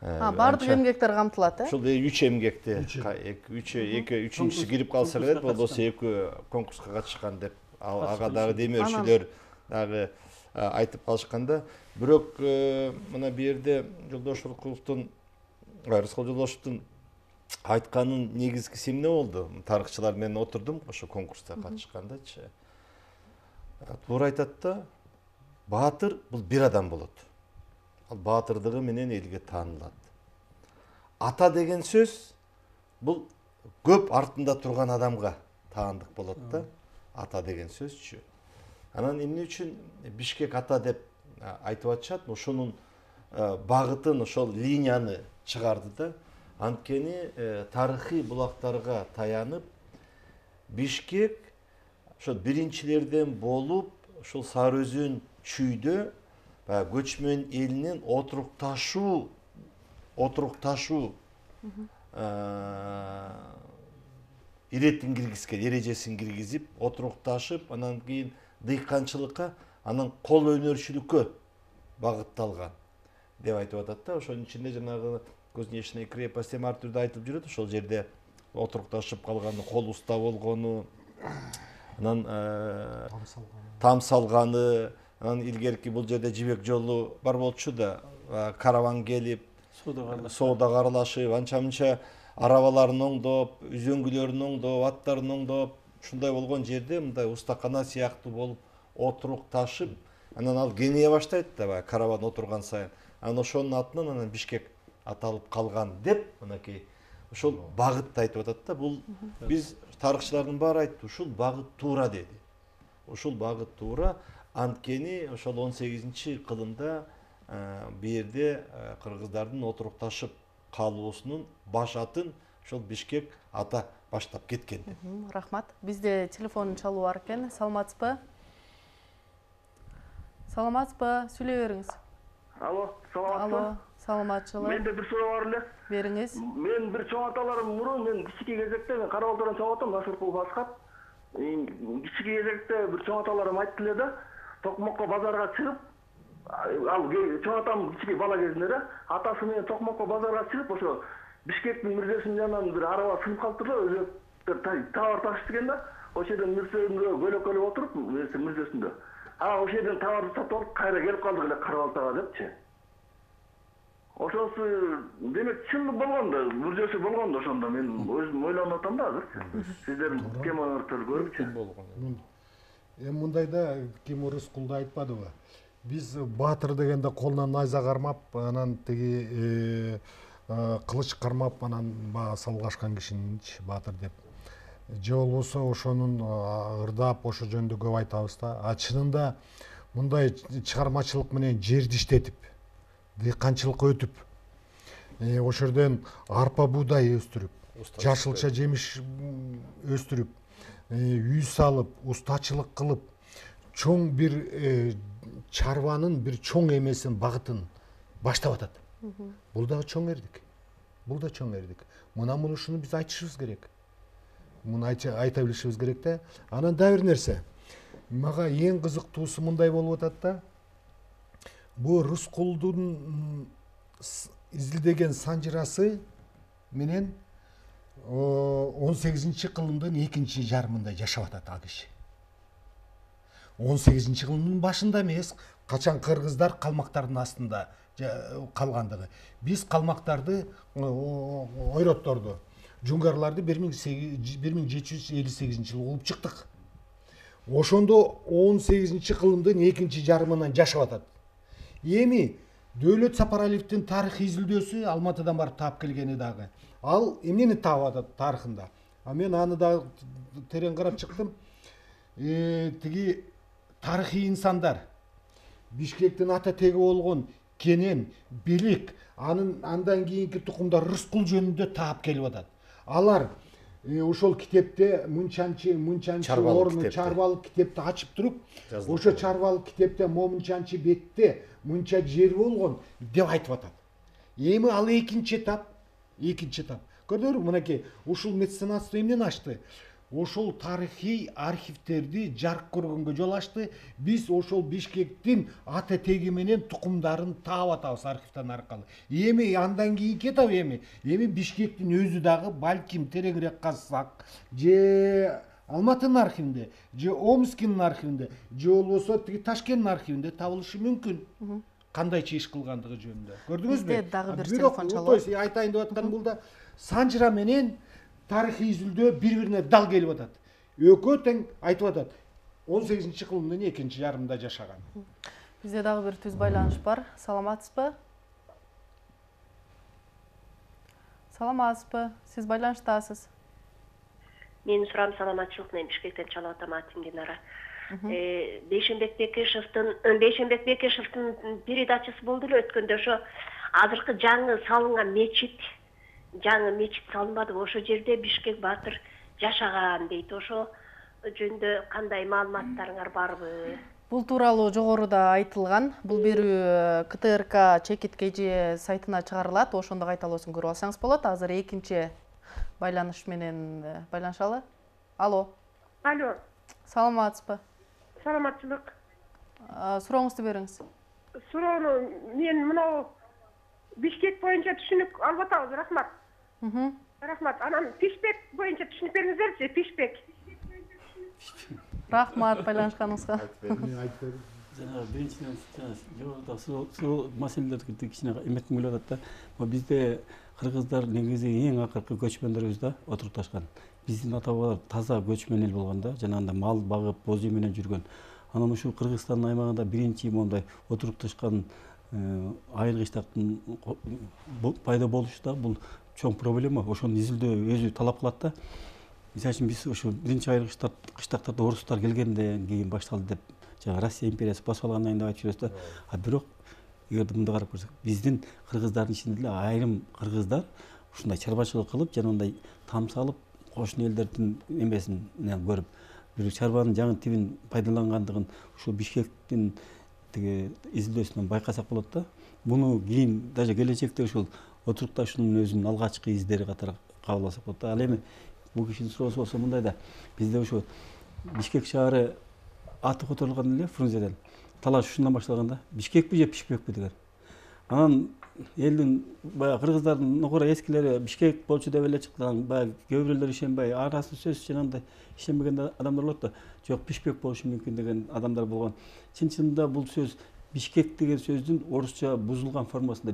бардык эмгектер камтылат, Ушул 3 эмгекте 3-үчүсү кирип калса керек, болбосо 2 конкурска катышкан деп ага дагы демөөрчүлөр дагы айтып калышканда. Бирок мына бу жерде Рыскал Жолдошевдун айтканын негизгиси эмне болду? Тарыхчылар менен отурдум ошо конкурста катышкандачы. Туура айтат да, баатыр бул бир адам болот. Ал баатырдыгы менен элге таанылат. Ата деген сөз бул көп артында турган адамга таандык болот да. Ата деген сөзчү. Анан эмне үчүн Бишкек ата деп айтып атышат? Ошонун багытын, ошол линияны чыгарды да. Анткени тарыхый булактарга таянып Бишкек ошол биринчилерден болуп, ошол Сары Өзөн чүйдө көчмөн элинин отурукташуу иретин киргизген, эрежесин киргизип, отурукташып, анан кийин дыйканчылыкка, анан кол өнөрчүлүккө багытталган деп айтып атат да. Ошонун ичинде жанагы Кузнечная крепость ар түрдө айтылып жүрөт. Ошол жерде отурукташып калганы, кол уста болгону, анан там салганы, анан илгерки бул жерде жибек жолу бар болчу да, караван келип, соодага аралашып, анча-мынча арабаларын оңдоп, үзөңгүлөрүн оңдоп, аттарын оңдоп, ушундай болгон жерде мындай устакана сыяктуу болуп отурукташып, анан ал кеңейе баштайт да, баягы караван отурган сайын. Анан ошонун атынан анан Бишкек аталып калган деп, мынакей ошол багытты айтып атат да. Бул биз тарыхчылардын баары айтты, ушул багыт туура деди. Ушул багыт туура, анткени ошол 18-кылымда бу жерде кыргыздардын отурукташып калуусунун баш атын ошол Бишкек ата баштап кеткен. Рахмат. Бизде телефон чалуу бар экен. Саламатсызбы? Сүйлөй бериңиз. Алло, саламатсызбы? Алло, саламатчылык. Менде бир суроо бар эле. Бериңиз. Мен бир чоң аталарым мурун мен кичике кезекте мен Кара Балтордан чыгып атам, Насыркул Баскат. Кичике кезекте бир чоң аталарым айтты эле да, Токмокко базарга чыгып, ал чоң атам кичике бала кезинде да, атасы менен Токмокко базарга чыгып, ошо Бишкектин мирзесинин жанынан бир араба сынып калыптыр да, өзү товар ташып экен да. Ошол жерден мирзесинде көлөкөлөп отуруп, мирзесинде. Ошол жерден товарды сатып алып, кайра келип калдык эле Кара Балтага депчи. Ошонусу демек чын болгон да, мүрзөсү болгон да ошондо мен өзүм ойлонуп атам да азыр. Сиздердин темаларды көрүпчү. Эми мындайда ким Рыскулду айтпадыбы? Биз баатыр дегенде колунан найза кармап, анан тиги кылыч кармап, анан бага салгашкан кишининчи баатыр деп. Же болбосо ошонун ырдап ошо жөнүндө көп айтабыз да. А чынында мындай чыгармачылык менен жерди иштетип, дыйканчылыкка өтүп, ошол жерден арпа буудай өстүрүп, жашылча жемиш өстүрүп, үй салып, устачылык кылып, чоң бир чарбанын бир чоң эмесин, багытын баштап атат. Бул дагы чоң эрдик. Бул да чоң эрдик. Ушуну биз айтышыбыз керек. Муну айта билишибиз керек да. Анан дагы бир нерсе. Мага эң кызыктуусу мындай болуп атат да. Бул Рыскулдун изилдеген санжырасы менен 18-кылымдын экинчи жарымында жашап атат ал киши. 18-кылымдын башында эмес, качан кыргыздар калмактардын астында калгандыгы. Биз калмактарды, ойротторду, жунгарларды 1758 жылы кууп чыктык. Ошондо 18-кылымдын экинчи жарымынан жашап атат. Эми Дөөлөт Сапаралиевдин тарых изилдөөсү Алматыдан барып таап келгени дагы. Ал эмнени таап атат тарыхында? А мен аны дагы терең карап чыктым. Тиги тарыхый инсандар, Бишкектин ата теги болгон Кенен, Белек, андан кийинки тукумдар Рыскул жөнүндө таап келип атат. Алар ошол китепте мынчанчы орну чарбалык китепти ачып туруп, ошо чарбалык китепте момунчанчы бетте мынча жер болгон деп айтып атат. Эми ал экинчи этап. Көрдүңөрбү, мынакей ушул меценатство эмнени ачты? Ошол тарыхый архивтерди жарык көргөнгө жол ачты. Биз ошол Бишкектин ата теги менен тукумдарын таап атабыз архивден аркылуу. Эми андан кийинки этап эми Бишкектин өзү дагы балким тереңирээк казсак, же Алматынын архивинде, же Омскинин архивинде, же болбосо тиги Ташкенттин архивинде табылышы мүмкүн. Кандайча иш кылгандыгы жөнүндө. Көрдүңүзбү? Бизде дагы бир телефон чалып. Айтайын деп атканым бул да санжыра менен тарыхый изилдөө бири-бирине дал келип атат. Экөө тең айтып атат. 18-кылымдын экинчи жарымында жашаган. Бизде дагы бир түз байланыш бар. Саламатсызбы? Сиз байланыштасыз. Менин суram саламатчылык менен Бишкектен чалып атам, атым Динара. Бейшенбек Бекешевдин передачасы болду эле өткөндө, ошо азыркы жаңы салынган мечит салынбадыбы? Ошо жерде Бишкек баатыр жашаган дейт. Ошо жөнүндө кандай маалыматтарыңар барбы? Бул тууралуу жогоруда айтылган. Бул берүү КТРК Чекит КЖ сайтына чыгарылат. Ошондо кайталоосун көрүп алсаңыз болот. Азыр экинчи байланыш менен байланышалы. Алло. Саламатсызбы? Саламатчылык. Сурооңузду бериңиз. Суроону мен мынау Бишкек боюнча түшүнүк алып атабыз. Рахмат. Рахмат. Анан Пишпек боюнча түшүнүк бериңиздерчи, Пишпек. Рахмат байланышканыңызга. Жана биринчиден жогоруда суу маселелерди кичине эметким келип атат да. Бизде кыргыздар негизи эң акыркы көчмөндөр да отурукташкан. Биздин ата-бабалар таза көчмөн эл болгон да, жанагындай мал багып, боз үй менен жүргөн. Анан ушул Кыргызстандын аймагында биринчи мондай отурукташкан айылгычтардын пайда болушу да бул чоң проблема. Ошону изилдөө өзү талап кылат да. Мисалы үчүн биз ушу биринчи айылгычтар кыштактарда орустар келгенден кийин башталды деп жана Россия империясы басып алгандан кийин деп айтып жүрөбүз да. А бирок эгерде мындай карап көрсөк, биздин кыргыздардын ичинде эле айрым кыргыздар ушундай чарбачылык кылып, жанагындай там салып, кошуна элдердин эмесинен көрүп, бир чарбанын жаңы тибин пайдалангандыгын ушул Бишкектин тиги изилдөөсүнөн байкасак болот да. буну кийин даже келечекте ушул отурукташуунун өзүнүн алгачкы издери катары кабыл алсак болот да. Ал эми бул кишинин суроосу болсо мындай да, бизде ушу Бишкек шаары аты которулган эле Фрунзеден талаш ушундан башталган да. Бишкекпи же Пишпекпи деген. Анан элдин баягы кыргыздардын нокура эскилери Бишкек болчу деп эле чыкты. Баягы кээ бирөөлөр ишенбей, арасы сөз жанагындай ишенбеген адамдар болот да. Жок, Пишпек болушу мүмкүн деген адамдар болгон. Чын-чынында бул сөз Бишкек деген сөздүн орусча бузулган формасында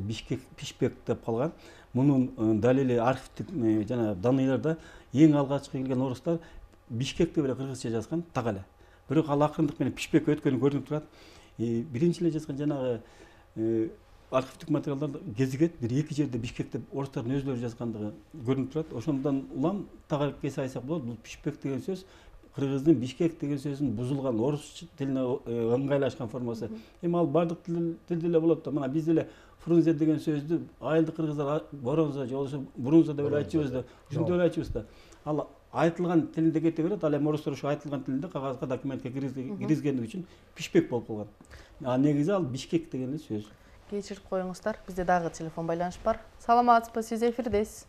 Пишпек деп калган. Мунун далили архивдик жана даныйларда эң алгачкы келген орустар Бишкек деп эле кыргызча жазган так эле. Бирок ал акырындык менен Пишпек өткөнү көрүнүп турат. Биринчи эле жазган жанагы архивдик материалдарда кезигет, бир эки жерде Бишкек деп орустардын өзлөрү жазгандыгы көрүнүп турат. Ошондон улам тагыракка сайсак болот. Бул Пишпек деген сөз кыргыздын Бишкек деген сөзүн бузулган орус тилине ыңгайлашкан формасы. Эми ал бардык тилде эле болот да. Мына биз деле Фрунзе деген сөздү айылдык кыргыздар Боронза же болбосо Бурунза деп эле айтчубуз да. Ушинтип эле айтчубуз да. Ал айтылган тилинде кете берет. Ал эми орустар ушу айтылган тилинде кагазга, документке киргизгендиги үчүн Пишпек болуп калган. А негизи ал Бишкек деген эле сөз. Кечирип коюңуздар. Бизде дагы телефон байланыш бар. Саламатсызбы, сиз эфирдесиз.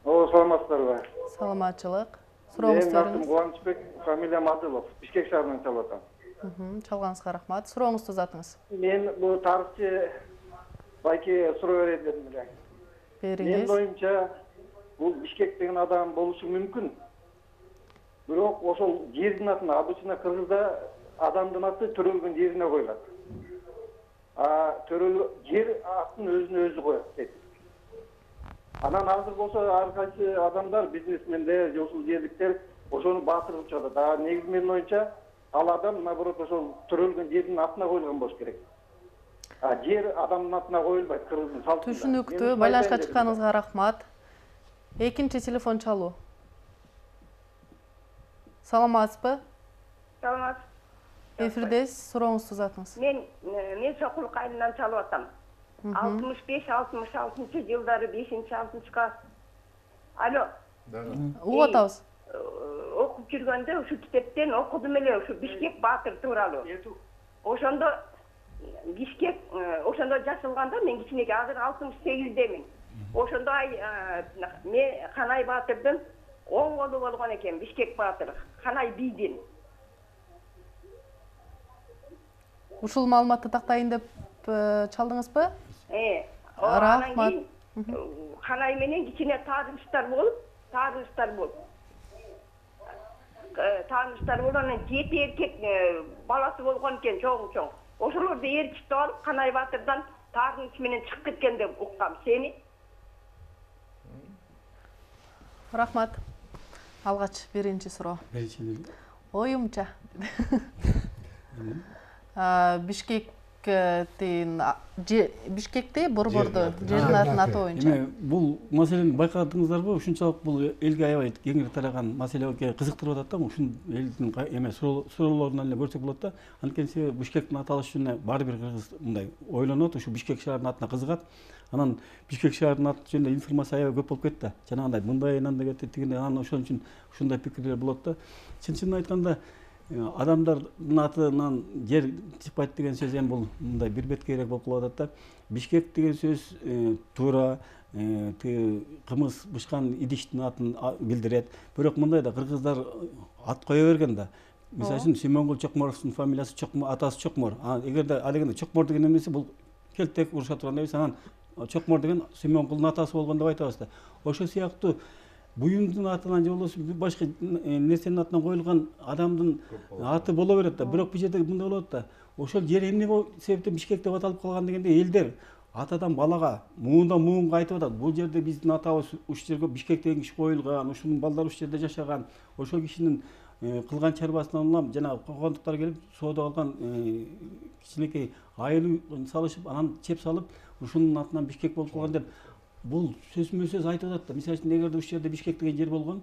Саламатсыздарбы? Саламатчылык. Сурооңузду бериңиз. Мен Кубанычбек, фамилиям Адылов. Бишкек шаарынан чалып атам. Чалганыңызга рахмат. Сурооңузду узатыңыз. Мен бул тарыхчы байке суроо берейин дедим эле. Бериңиз. Менин оюмча бул Бишкек деген адам болушу мүмкүн. Бирок ошол жердин атын обычно кыргызда адамдын аты төрөлгөн жерине коюлат. Жер атын өзүнө өзү коет дейт. Анан азыр болсо ар кайсы адамдар, бизнесмендер, ушул жерликтер ошону баатырып жатат. Негизи менин оюмча ал адам наоборот ошол төрөлгөн жердин атына коюлган болуш керек. Жер адамдын атына коюлбайт кыргыздын салтында. Түшүнүктүү. Байланышка чыкканыңызга рахмат. Экинчи телефон чалуу. Саламатсызбы? Саламатсыз. Эфирдесиз, сурооңузду узатыңыз. Мен Сокул кайынан чалып атам. 65-66 жылдары 5-6 класс. Алло. Угуп атабыз. Окуп жүргөндө ушу китептен окудум эле ушу Бишкек баатыр тууралуу. Ошондо Бишкек ошондо жазылганда мен кичинекей, азыр 68-демин. Ошондо мен Канай баатырдын оң колу болгон экен, Бишкек баатыр, Канай бийдин. Ушул маалыматты тактайын деп чалдыңызбы? Рахмат. Канай менен кичине тааныштар болуп. Тааныштар болгондон 7 эркек баласы болгон экен, чоң. Ошолорду ээрчитип алып, Канай баатырдан тааныш менен чыгып кеткен деп уккам. Сени? Рахмат. Алгач биринчи суроо. Оюмча. Бишкекте борбордо жердин аты боюнча. Эми бул маселени байкадыңыздарбы? Ушунчалык бул элге аябай кеңири тараган маселе кызыктырып атат да. Ушун элдин эме суроолорунан эле көрсөк болот да. Анткени себеби Бишкектин аталышына баары бир кыргыз мындай ойлонот, ушу Бишкек шаарынын атына кызыгат. Анан Бишкек шаарынын аты жөнүндө информация аябай көп болуп кетти. Жанагындай мындайынан да кетти, тигиндей. Анан ошон үчүн ушундай пикирлер болот да. Чын-чынын айтканда адамдардын атынан жер чыкпайт деген сөз эми бул мындай бир беткейрээк болуп калып атат да. Бишкек деген сөз туура кымыз бышкан идиштин атын билдирет. Бирок мындай да кыргыздар ат кое берген да. Мисалы үчүн Симонгул Чокморовдун фамилиясы атасы Чокмор. Эгерде ал дегенде Чокмор деген эмеси бул келтек уруша турган эмес. Анан Чокмор деген Симонгулдун атасы болгон деп айтабыз да. Ошол сыяктуу буюмдун атынан же болбосо башка нерсенин атынан коюлган адамдын аты боло берет да. Бирок бул жерде мындай болот да. Ошол жер эмне себептен Бишкек деп аталып калган дегенде элдер атадан балага, муундан муунга айтып атат. Бул жерде биздин атабыз ушул жерге Бишкек деген киши коюлган, ушунун балдары ушул жерде жашаган. Ошол кишинин кылган чарбасынан улам жана когондуктар келип соода алган кичинекей айыл салышып, анан чеп салып, ушунун атынан Бишкек болуп калган деп бул сөзмө-сөз айтып атат да. Мисалы үчүн эгерде ушул жерде Бишкек деген жер болгон,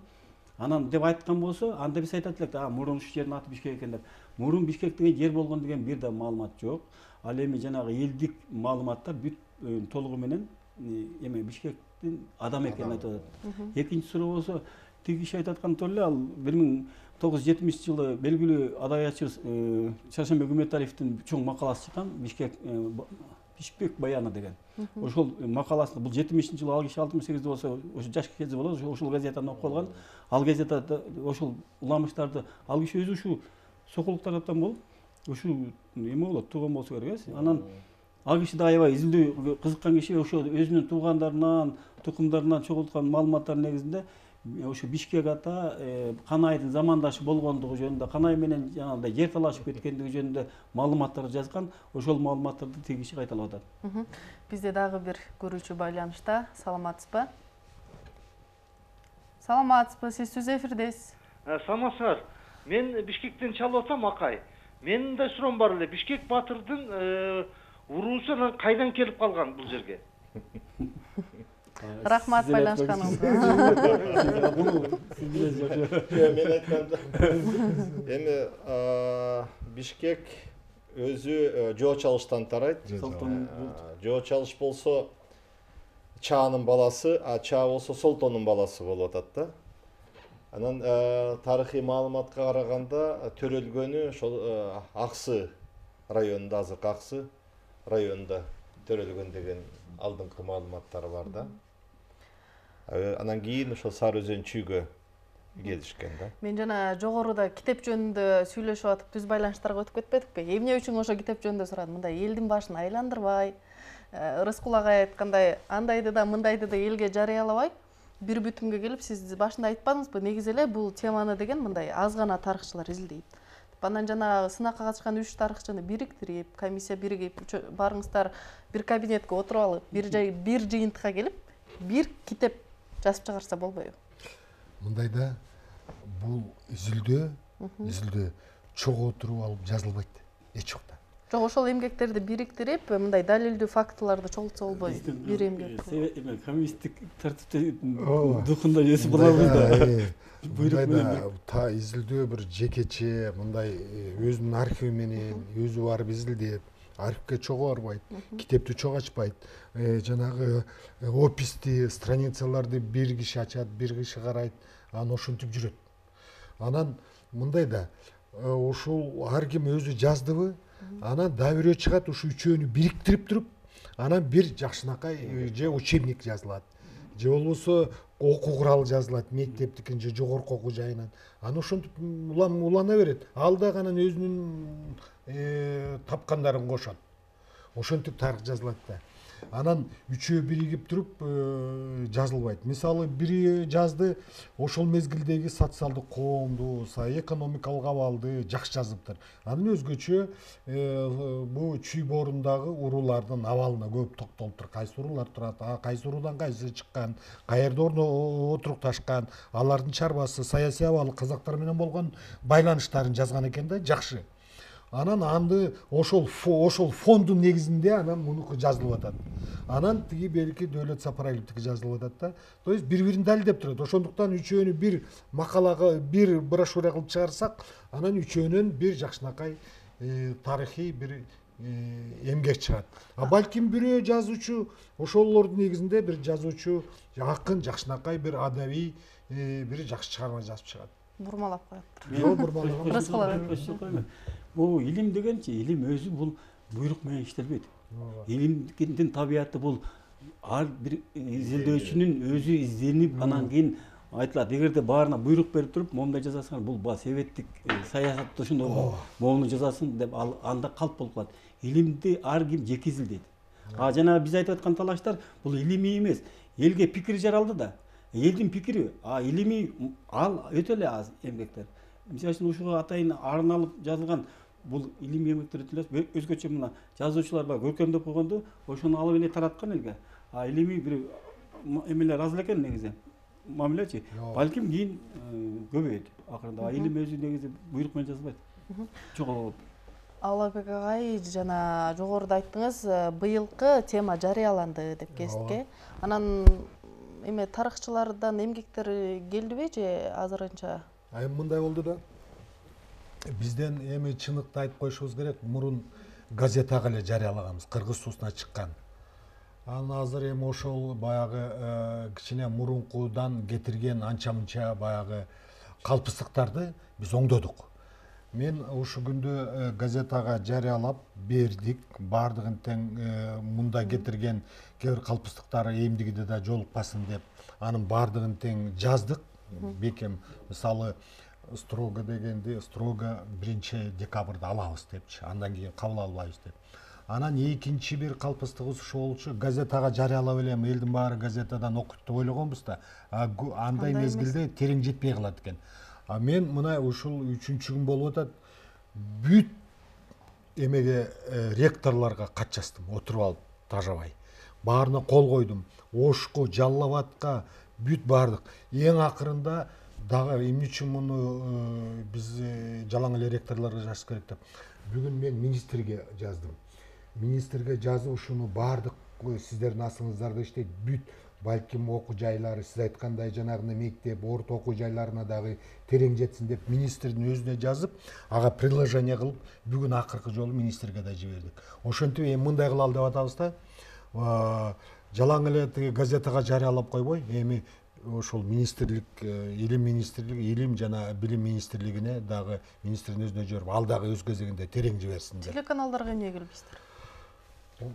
анан деп айткан болсо, анда биз айтат элек да, мурун ушул жердин аты Бишкек экен деп. Мурун Бишкек деген жер болгон деген бир да маалымат жок. Ал эми жанагы элдик маалыматтар бүт толугу менен эме Бишкектин адам экенин айтып атат. Экинчи суроо болсо, тиги киши айтып аткан эле, ал 1970-жылы белгилүү адабиятчыбыз Шаршенбек Үмөталиевдин чоң макаласы чыккан, Бишкек Бишкек баяны деген. Ошол макаласында бул 70-жылы ал киши 68-де болсо, ошо жаш кези болот, ошол газетаны окуп калган. Ал газетада ошол уламыштарды ал киши өзү ушу сокулук тараптан болуп, ушу эме болот, тууган болсо керек эс. Анан ал киши да аябай изилдөө кызыккан киши, ошо өзүнүн туугандарынан, тукумдарынан чогулткан маалыматтар негизинде ошо Бишкек ата Канайдын замандашы болгондугу жөнүндө, Канай менен жанагындай жер талашып кеткендиги жөнүндө маалыматтар жазган. Ошол маалыматтарды тиги киши кайталап атат. Бизде дагы бир көрүүчү байланышта. Саламатсызбы? Саламатсызбы, сиз түз эфирдесиз. Саламатсыздар. Мен Бишкектен чалып атам, акай. Менин да суроом бар эле. Бишкек Батырдын уруусу кайдан келип калган бул жерге? Рахмат байланышканыңызга. Мен айтканда эми Бишкек өзү жоо чалыштан тарайт. Жоо чалыш болсо Чаанын баласы, а Чаа болсо Солтондун баласы болуп атат да. Анан тарыхый маалыматка караганда төрөлгөнү ошол Аксы районунда, азыркы Аксы районунда төрөлгөн деген алдыңкы маалыматтар бар да. Анан кийин ошол Сары Өзөн чүйгө келишкен да. Мен жана жогоруда китеп жөнүндө сүйлөшүп атып түз байланыштарга өтүп кетпедикпи? Эмне үчүн ошо китеп жөнүндө сурадым? Мындай элдин башын айландырбай, Рыскул агай айткандай, андайды да мындайды да элге жарыялабай, бир бүтүмгө келип, сиз башында айтпадыңызбы, негизи эле бул теманы деген мындай аз гана тарыхчылар изилдейт. Анан жанагы сынакка катышкан 3 тарыхчыны бириктирип, комиссия биригип, барыңыздар бир кабинетке отуруп алып, бир жыйынтыкка келип, бир китеп жазып чыгарса болбойбу? Мындайда бул изилдөө чогуу отуруп алып жазылбайт эч жакта. Жок, ошол эмгектерди бириктирип, мындай далилдүү фактыларды чогултса болбойбу? Бир эмгек. Коммунисттик тартиптин духунда өсүп калабыз да. Та изилдөө бир жекече мындай өзүнүн архиви менен өзү барып изилдеп, архивге чогуу барбайт, китепти чогуу ачпайт. Жанагы описти, страницаларды бир киши ачат, бир киши карайт, анан ошентип жүрөт. Анан мындай да, ушул ар ким өзү жаздыбы, анан dabirөө чыгат, ушу үчөөнү бириктирип туруп, анан бир жакшынакай же учебник жазылат, же болбосо окуу куралы жазылат, мектептикин же жогорку окуу жайынан. Анан ошентип улана берет. Ал дагы анан өзүнүн тапкандарын кошот. Ошентип тарых жазылат да. Анан үчөө биригип туруп жазылбайт. Мисалы бири жазды, ошол мезгилдеги социалдык коомду, экономикалык абалды жакшы жазыптыр. Анан өзгөчө бу чүй боорундагы уруулардын абалына көп токтолуптур. Кайсы уруулар турат, кайсы уруудан кайсы чыккан, каерде отурукташкан, алардын чарбасы, саясий абалы, казактар менен болгон байланыштарын жазган экен да, жакшы. Анан анды ошол фондун негизинде анан мунуку жазылып атат. Анан тиги берки Дөөлөт Сапаралиевдики жазылып атат да. То есть бири-бирин далилдеп турат. Ошондуктан үчөөнү бир макалага, бир брошюра кылып чыгарсак, анан үчөөнөн бир жакшынакай тарыхый бир эмгек чыгат. А балким бирөө жазуучу, ошолордун негизинде бир жазуучу, акын, жакшынакай бир адабий бир жакшы чыгарма жазып чыгат. Бурмалап коюптур. Жок, бурмалап. Бул илим дегенчи, илим өзү бул буйрук менен иштелбейт. Илимдин табияты бул ар бир изилдөөчүнүн өзү изденип, анан кийин айтылат. Эгерде баарына буйрук берип туруп, момундай жазасың, бул севеттик саясатта ошондой момуну жазасың деп анда калп болуп калат. Илимди ар ким жеке изилдейт. Жана биз айтып аткан талаштар бул илимий эмес. Элге пикир жаралды да. Элдин пикири, илимий ал өтө эле аз эмгектер. Мисалы үчүн ушуга атайын арналып жазылган бул илимий эмгектер өтө эле өзгөчө мына жазуучулар бар көркөмдөп койгондо ошону алып эле тараткан элге. Илимий бир эмелер аз экен негизи. Мамилечи. Балким кийин көбөйөт акырында. Илим өзү негизи буйрук менен жазылбайт. Чогуу. Аллабек агай, жана жогоруда айттыңыз, быйылкы тема жарыяланды деп кесипке. Анан эме тарыхчылардан эмгектер келдиби же азырынча? Мындай болду да. Бизден эми чындыкты айтып коюшубуз керек. Мурун газетага эле жарыялаганбыз, Кыргыз Суусуна чыккан. Анан азыр эми ошол баягы кичине мурункудан кетирген анча-мынча баягы калпыстыктарды биз оңдодук. Мен ушу күндө газетага жарыялап бердик. Бардыгын тең мында кетирген кээ бир калпыстыктар эмдигиде да жолукпасын деп анын бардыгын тең жаздык. Бекем мисалы строго дегенди строго 1-декабрда алабыз депчи. Андан кийин кабыл албайбыз деп. Анан экинчи бир калпыстыгыбыз ошо болчу, газетага жарыялап элем, элдин баары газетадан окуйт деп ойлогонбуз да. Андай мезгилде терең жетпей калат экен. Мен мына ушул 3-күн болуп атат. Бүт эмеге ректорлорго кат жаздым, отуруп алып тажабай. Баарына кол койдум. Ошко, Жалал Абадка бүт бардык. Эң акырында дагы эмне үчүн муну биз жалаң эле ректорлорго жазыш керек деп. Бүгүн мен министрге жаздым. Министрге жазып ушуну бардык сиздердин астыңыздарда иштейт бүт балким окуу жайлары, сиз айткандай жанагындай мектеп, орто окуу жайларына дагы терең жетсин деп министрдин өзүнө жазып, ага приложение кылып, бүгүн акыркы жолу министрге да жибердик. Ошентип эми мындай кылалы деп атабыз да. Жалаң эле тиги газетага жарыялап койбой, эми ошол министрлик, илим жана билим министрлигине дагы министрдин өзүнө жиберип, ал дагы өз кезегинде терең жиберсин деп. Телеканалдарга эмне келбейсиздер?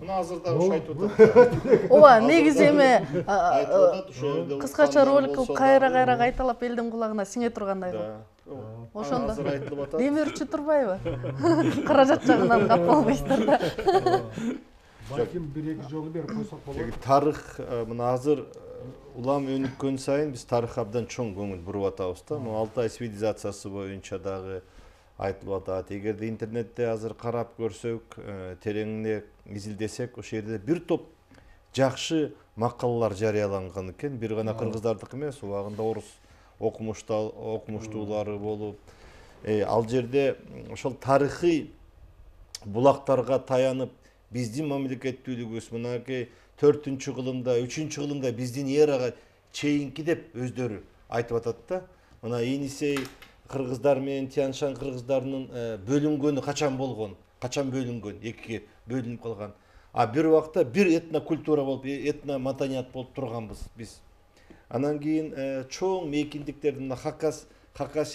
Мына азыр дагы ошо айтып атат. Ооба, негизи эми кыскача ролик кылып кайра кайталап элдин кулагына сиңе тургандай кылып. Ошондо азыр айтылып атат. Демирчи турбайбы? Каражат жагынан кап болбойсуздар да. Балким 1-2 жолу берип койсок болот. Тарых мына азыр улам өнүккөн сайын биз тарыхка абдан чоң көңүл буруп атабыз да. Мына Алтай цивилизациясы боюнча дагы айтылып атат. Эгерде интернетте азыр карап көрсөк, тереңине изилдесек, ошол жерде бир топ жакшы макалалар жарыяланган экен. Бир гана кыргыздардыкы эмес, убагында орус окумуштуулары болуп, ал жерде ошол тарыхый булактарга таянып биздин мамлекеттүүлүгүбүз мынакей 4-кылымда, 3-кылымда биздин эрага чейинки деп өздөрү айтып атат да. Мына Енисей кыргыздар менен Тянь-Шань кыргыздарынын бөлүнгөнү качан болгон? Качан бөлүнгөн? Экиге бөлүнүп калган. Бир убакта бир этнокультура болуп, этномаданият болуп турганбыз биз. Анан кийин чоң мейкиндиктерди мына Хакас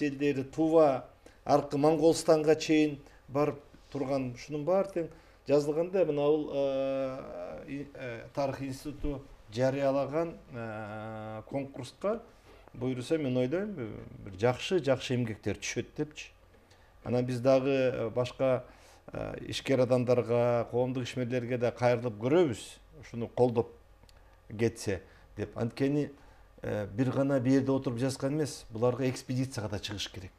элдери, Тува, аркы Монголстанга чейин барып турган, ушунун баары тең жазылганда мына бул тарых институту жарыялаган конкурска буйруса мен ойлойм бир жакшы эмгектер түшөт депчи. Анан биз дагы башка ишкер адамдарга, коомдук ишмерлерге да кайрылып көрөбүз, ушуну колдоп кетсе деп. Анткени бир гана бир жерде отуруп жазган эмес, буларга экспедицияга да чыгыш керек.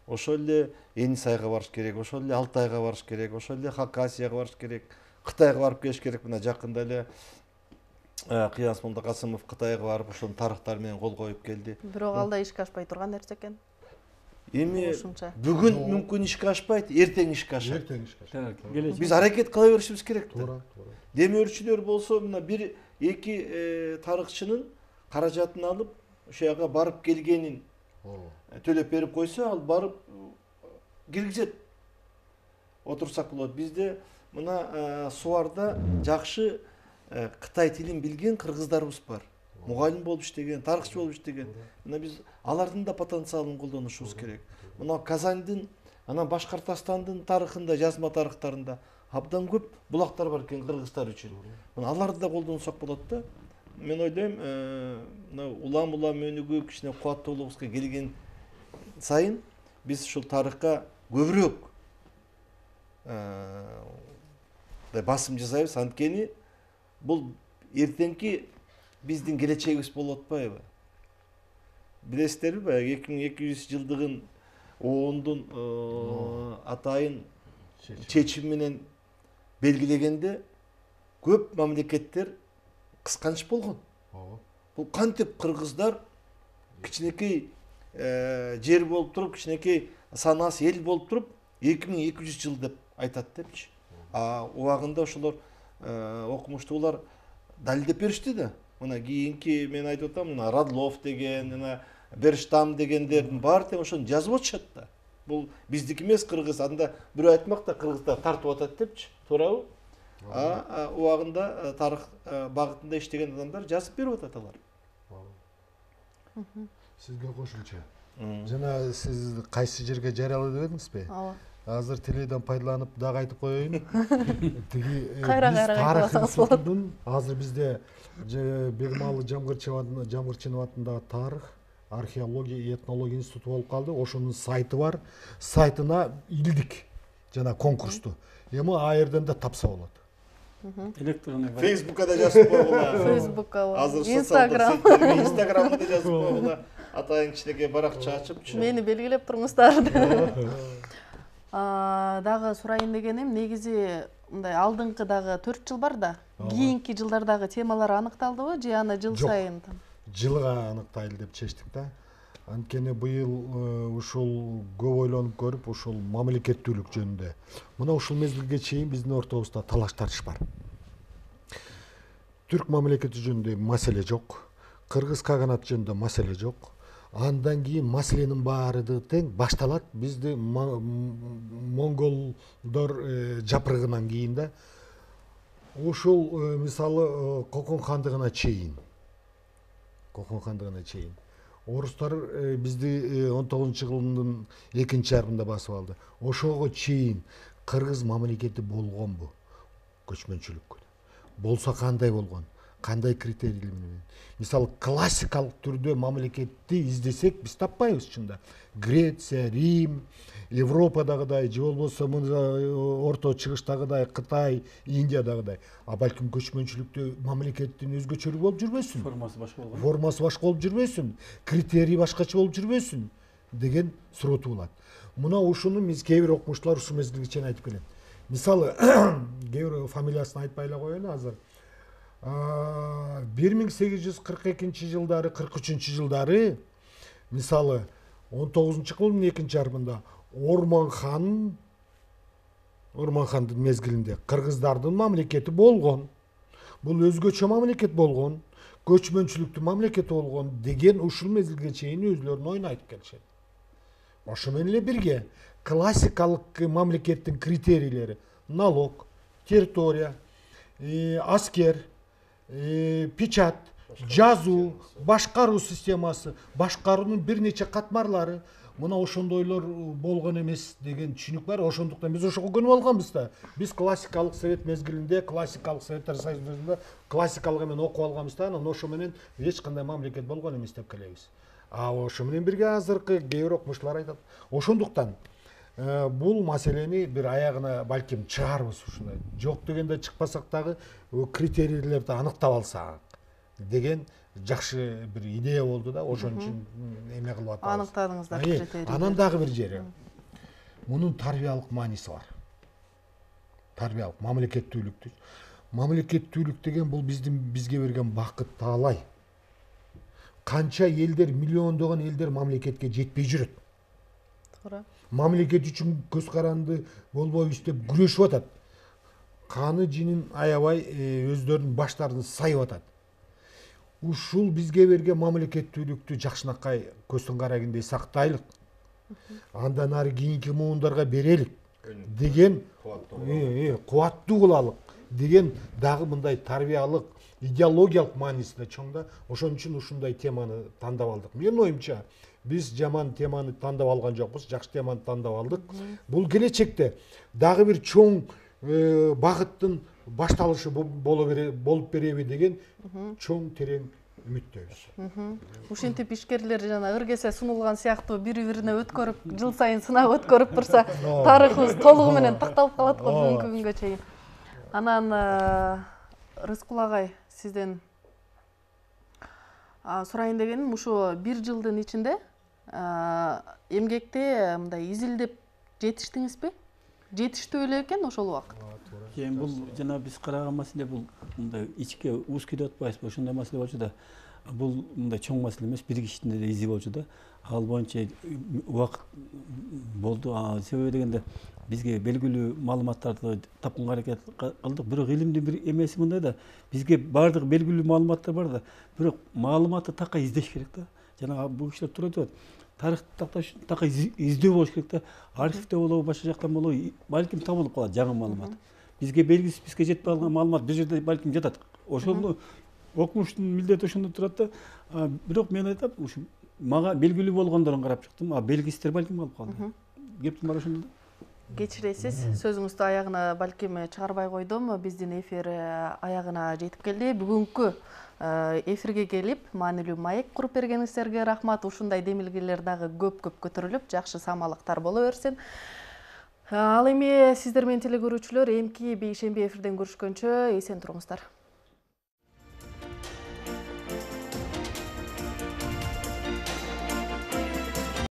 Ошол эле Енисайга барыш керек, ошол эле Алтайга барыш керек, ошол эле Хакасияга барыш керек, Кытайга барып келиш керек. Мына жакында эле Кыянс Молдокасымов Кытайга барып ошонун тарыхтары менен кол коюп келди. Бирок ал да ишке ашпай турган нерсе экен. Эми бүгүн мүмкүн ишке ашпайт, эртең ишке ашат. Биз аракет кыла беришибиз керек. Туура. Демөөрчүлөр болсо мына 1-2 тарыхчынын каражатын алып, ошол жака барып келгенин төлөп берип койсо, ал барып киргизет. Отурсак болот. Бизде мына Суарда жакшы Кытай тилин билген кыргыздарыбыз бар. Мугалим болуп иштеген, тарыхчы болуп иштеген. Мына биз алардын да потенциалын колдонушубуз керек. Мына Казандын, анан Башкортостандын тарыхында, жазма тарыхтарында абдан көп булактар бар экен кыргыздар үчүн. Мына аларды да колдонсок болот да. Мен ойлойм, мына улам өнүгүп, кичине кубаттуулугубузга келген сайын биз ушул тарыхка көбүрөөк басым жасайбыз. Анткени бул эртеңки биздин келечегибиз болуп атпайбы? Билесиздерби, баягы 2200 жылдыгын оондун атайын чечими менен белгилегенде көп мамлекеттер кысканч болгон. Бул кантип кыргыздар кичинекей жер болуп туруп, кичинекей санасы эл болуп туруп 2200 жыл деп айтат депчи. Убагында ошолор окумуштуулар далилдеп беришти да. Мына кийинки мен айтып атам, мына Радлов деген, мына Берштам дегендердин баары тең ошону жазып атышат да. Бул биздики эмес, кыргыз. Анда бирөө айтмак да, кыргыздар тартып атат депчи. Туурабы? Убагында тарых багытында иштеген адамдар жазып берип атат алар. Сизге кошумча. Жана сиз кайсы жерге жарыялоо дедиңизби? Ооба. Азыр теледен пайдаланып дагы айтып коеюн. Тиги Кайра тарых айтып алсаңыз институтунун азыр бизде Бегмалы Жамгырчинов атындагы тарых, археология и этнология институту болуп калды. Ошонун сайты бар. Сайтына илдик жана конкурсту. Эми а жерден да тапса болот. Электронный Фейсбукка да жазып койгула. Фейсбукка, Азыр Инстаграм. Инстаграмда да жазып койгула. Атайын кичинекей баракча ачыпчы. Мени белгилеп туруңуздар. Дагы сурайын дегеним, негизи мындай алдыңкы дагы 4 жыл бар да. Кийинки жылдардагы темалар аныкталдыбы же аны жыл сайын? Жылга аныктайлы деп чечтик да. Анткени быйыл ушул көп ойлонуп көрүп, ушул мамлекеттүүлүк жөнүндө. Мына ушул мезгилге чейин биздин ортобузда талаш тартыш бар. Түрк мамлекети жөнүндө маселе жок, кыргыз каганаты жөнүндө маселе жок. Андан кийин маселенин баары тең башталат. Бизди монголдор жапырыгынан кийин да ушул мисалы Кокон хандыгына чейин орустар бизди 19-жылдын 2-жарымында басып алды. Ошого чейин кыргыз мамлекети болгонбу? Көчмөнчүлүккө. Болсо кандай болгон? Кандай критерийлер менен? Мисалы классикалык түрдө мамлекетти издесек биз таппайбыз чында. Греция, Рим, Европадагыдай, же болбосо Орто Чыгыштагыдай, Кытай, Индиядагыдай. А балким көчмөнчүлүктө мамлекеттин өзгөчөлүгү болуп жүрбөсүн? формасы башка болгон. Формасы башка болуп жүрбөсүн? Критерий башкача болуп жүрбөсүн? Деген суроо туулат. Мына ушуну биз кээ бир окумуштуулар ушул мезгилге чейин айтып келет. Мисалы, кээ бир фамилиясын айтпай эле коеюн азыр. 1842-жылдары, 43-жылдары, мисалы, 19-кылымдын 2-жарымында Орманхандын мезгилинде кыргыздардын мамлекети болгон. Бул өзгөчө мамлекет болгон, көчмөнчүлүктүн мамлекети болгон деген ушул мезгилге чейин өзлөрүнүн оюн айтып келишет. Ошо менен эле бирге классикалык мамлекеттин критерийлери: налог, территория, аскер, печать, жазуу, башкаруу системасы, башкаруунун бир нече катмарлары, мына ошондойлор болгон эмес деген түшүнүк бар. Ошондуктан биз ошого көнүп алганбыз да. Биз классикалык совет мезгилинде, классикалык советтер союзунда классикалык менен окуп алганбыз да, анан ошо менен эч кандай мамлекет болгон эмес деп келебиз. А ошо менен бирге азыркы кээ бир окумуштуулар айтат. Ошондуктан бул маселени бир аягына балким чыгарбыз ушундай. Жок дегенде чыкпасак дагы критерийлерди аныктап алсак деген жакшы бир идея болду да. Ошон үчүн эме кылып атабыз. Аныктадыңыздар критерийлерди. Анан дагы бир жери. Мунун тарбиялык мааниси бар. Тарбиялык мамлекеттүүлүктү. Мамлекеттүүлүк деген бул бизге берген бакыт, таалай. Канча элдер, миллиондогон элдер мамлекетке жетпей жүрөт. Туура. Мамлекет үчүн көз каранды болбойбуз деп күрөшүп атат. Каны жинин аябай өздөрүнүн баштарын сайып атат. Ушул бизге берген мамлекеттүүлүктү жакшынакай көздөн карагендей сактайлык. Андан ары кийинки муундарга берелик деген кубаттуу кылалык деген дагы мындай тарбиялык, идеологиялык мааниси да чоң да. Ошон үчүн ушундай теманы тандап алдык. Менин оюмча, биз жаман теманы тандап алган жокпуз, жакшы теманы тандап алдык. Бул келечекте дагы бир чоң багыттын башталышы болуп береби деген чоң терең үмүттөбүз. Ушинтип ишкерлер жана ыргесе сунулган сыяктуу бири-бирине өткөрүп, жыл сайын сынап өткөрүп турса, тарыхыбыз толугу менен такталып калат го бүгүнкү күнгө чейин. Анан Рыскул агай, сизден сурайын дегеним, ушу 1 жылдын ичинде эмгекте мындай изилдеп жетиштиңизби? Жетиштүү эле экен ошол убакыт. Эми бул жана биз караган маселе бул мындай ичке уз кетип атпайбызбы? Ошондой маселе болчу да. Бул мындай чоң маселе эмес, бир кишинин эле изи болчу да. Ал боюнча убакыт болду. Себеби дегенде бизге белгилүү маалыматтарды тапканга аракет кылдык. Бирок илимдин бир эмеси мындай да. Бизге бардык белгилүү маалыматтар бар да. Бирок маалыматты такай издеш керек да. Жана бул кишилер туура айтып атат. Тарыхты такташ такай издөө болуш керек да. Архивде болобу, башка жактан болобу, балким табылып калат жаңы маалымат. Бизге белгисиз, бизге жетпей калган маалымат бир жерде балким жатат. Ошону окумуштун милдети ошондо турат да. Бирок мен айтам, ушу мага белгилүү болгондорун карап чыктым, а белгисиздер балким калып калды. Кептим бар ошондо да. Кечиресиз, сөзүңүздү аягына балким чыгарбай койдум. Биздин эфир аягына жетип келди. Бүгүнкү эфирге келип, маанилүү маек куруп бергениңиздерге рахмат. Ушундай демилгелер дагы көп көтөрүлүп, жакшы самалыктар боло берсин. Ал эми сиздер менен телекөрүүчүлөр эмки бейшемби эфирден көрүшкөнчө эсен туруңуздар.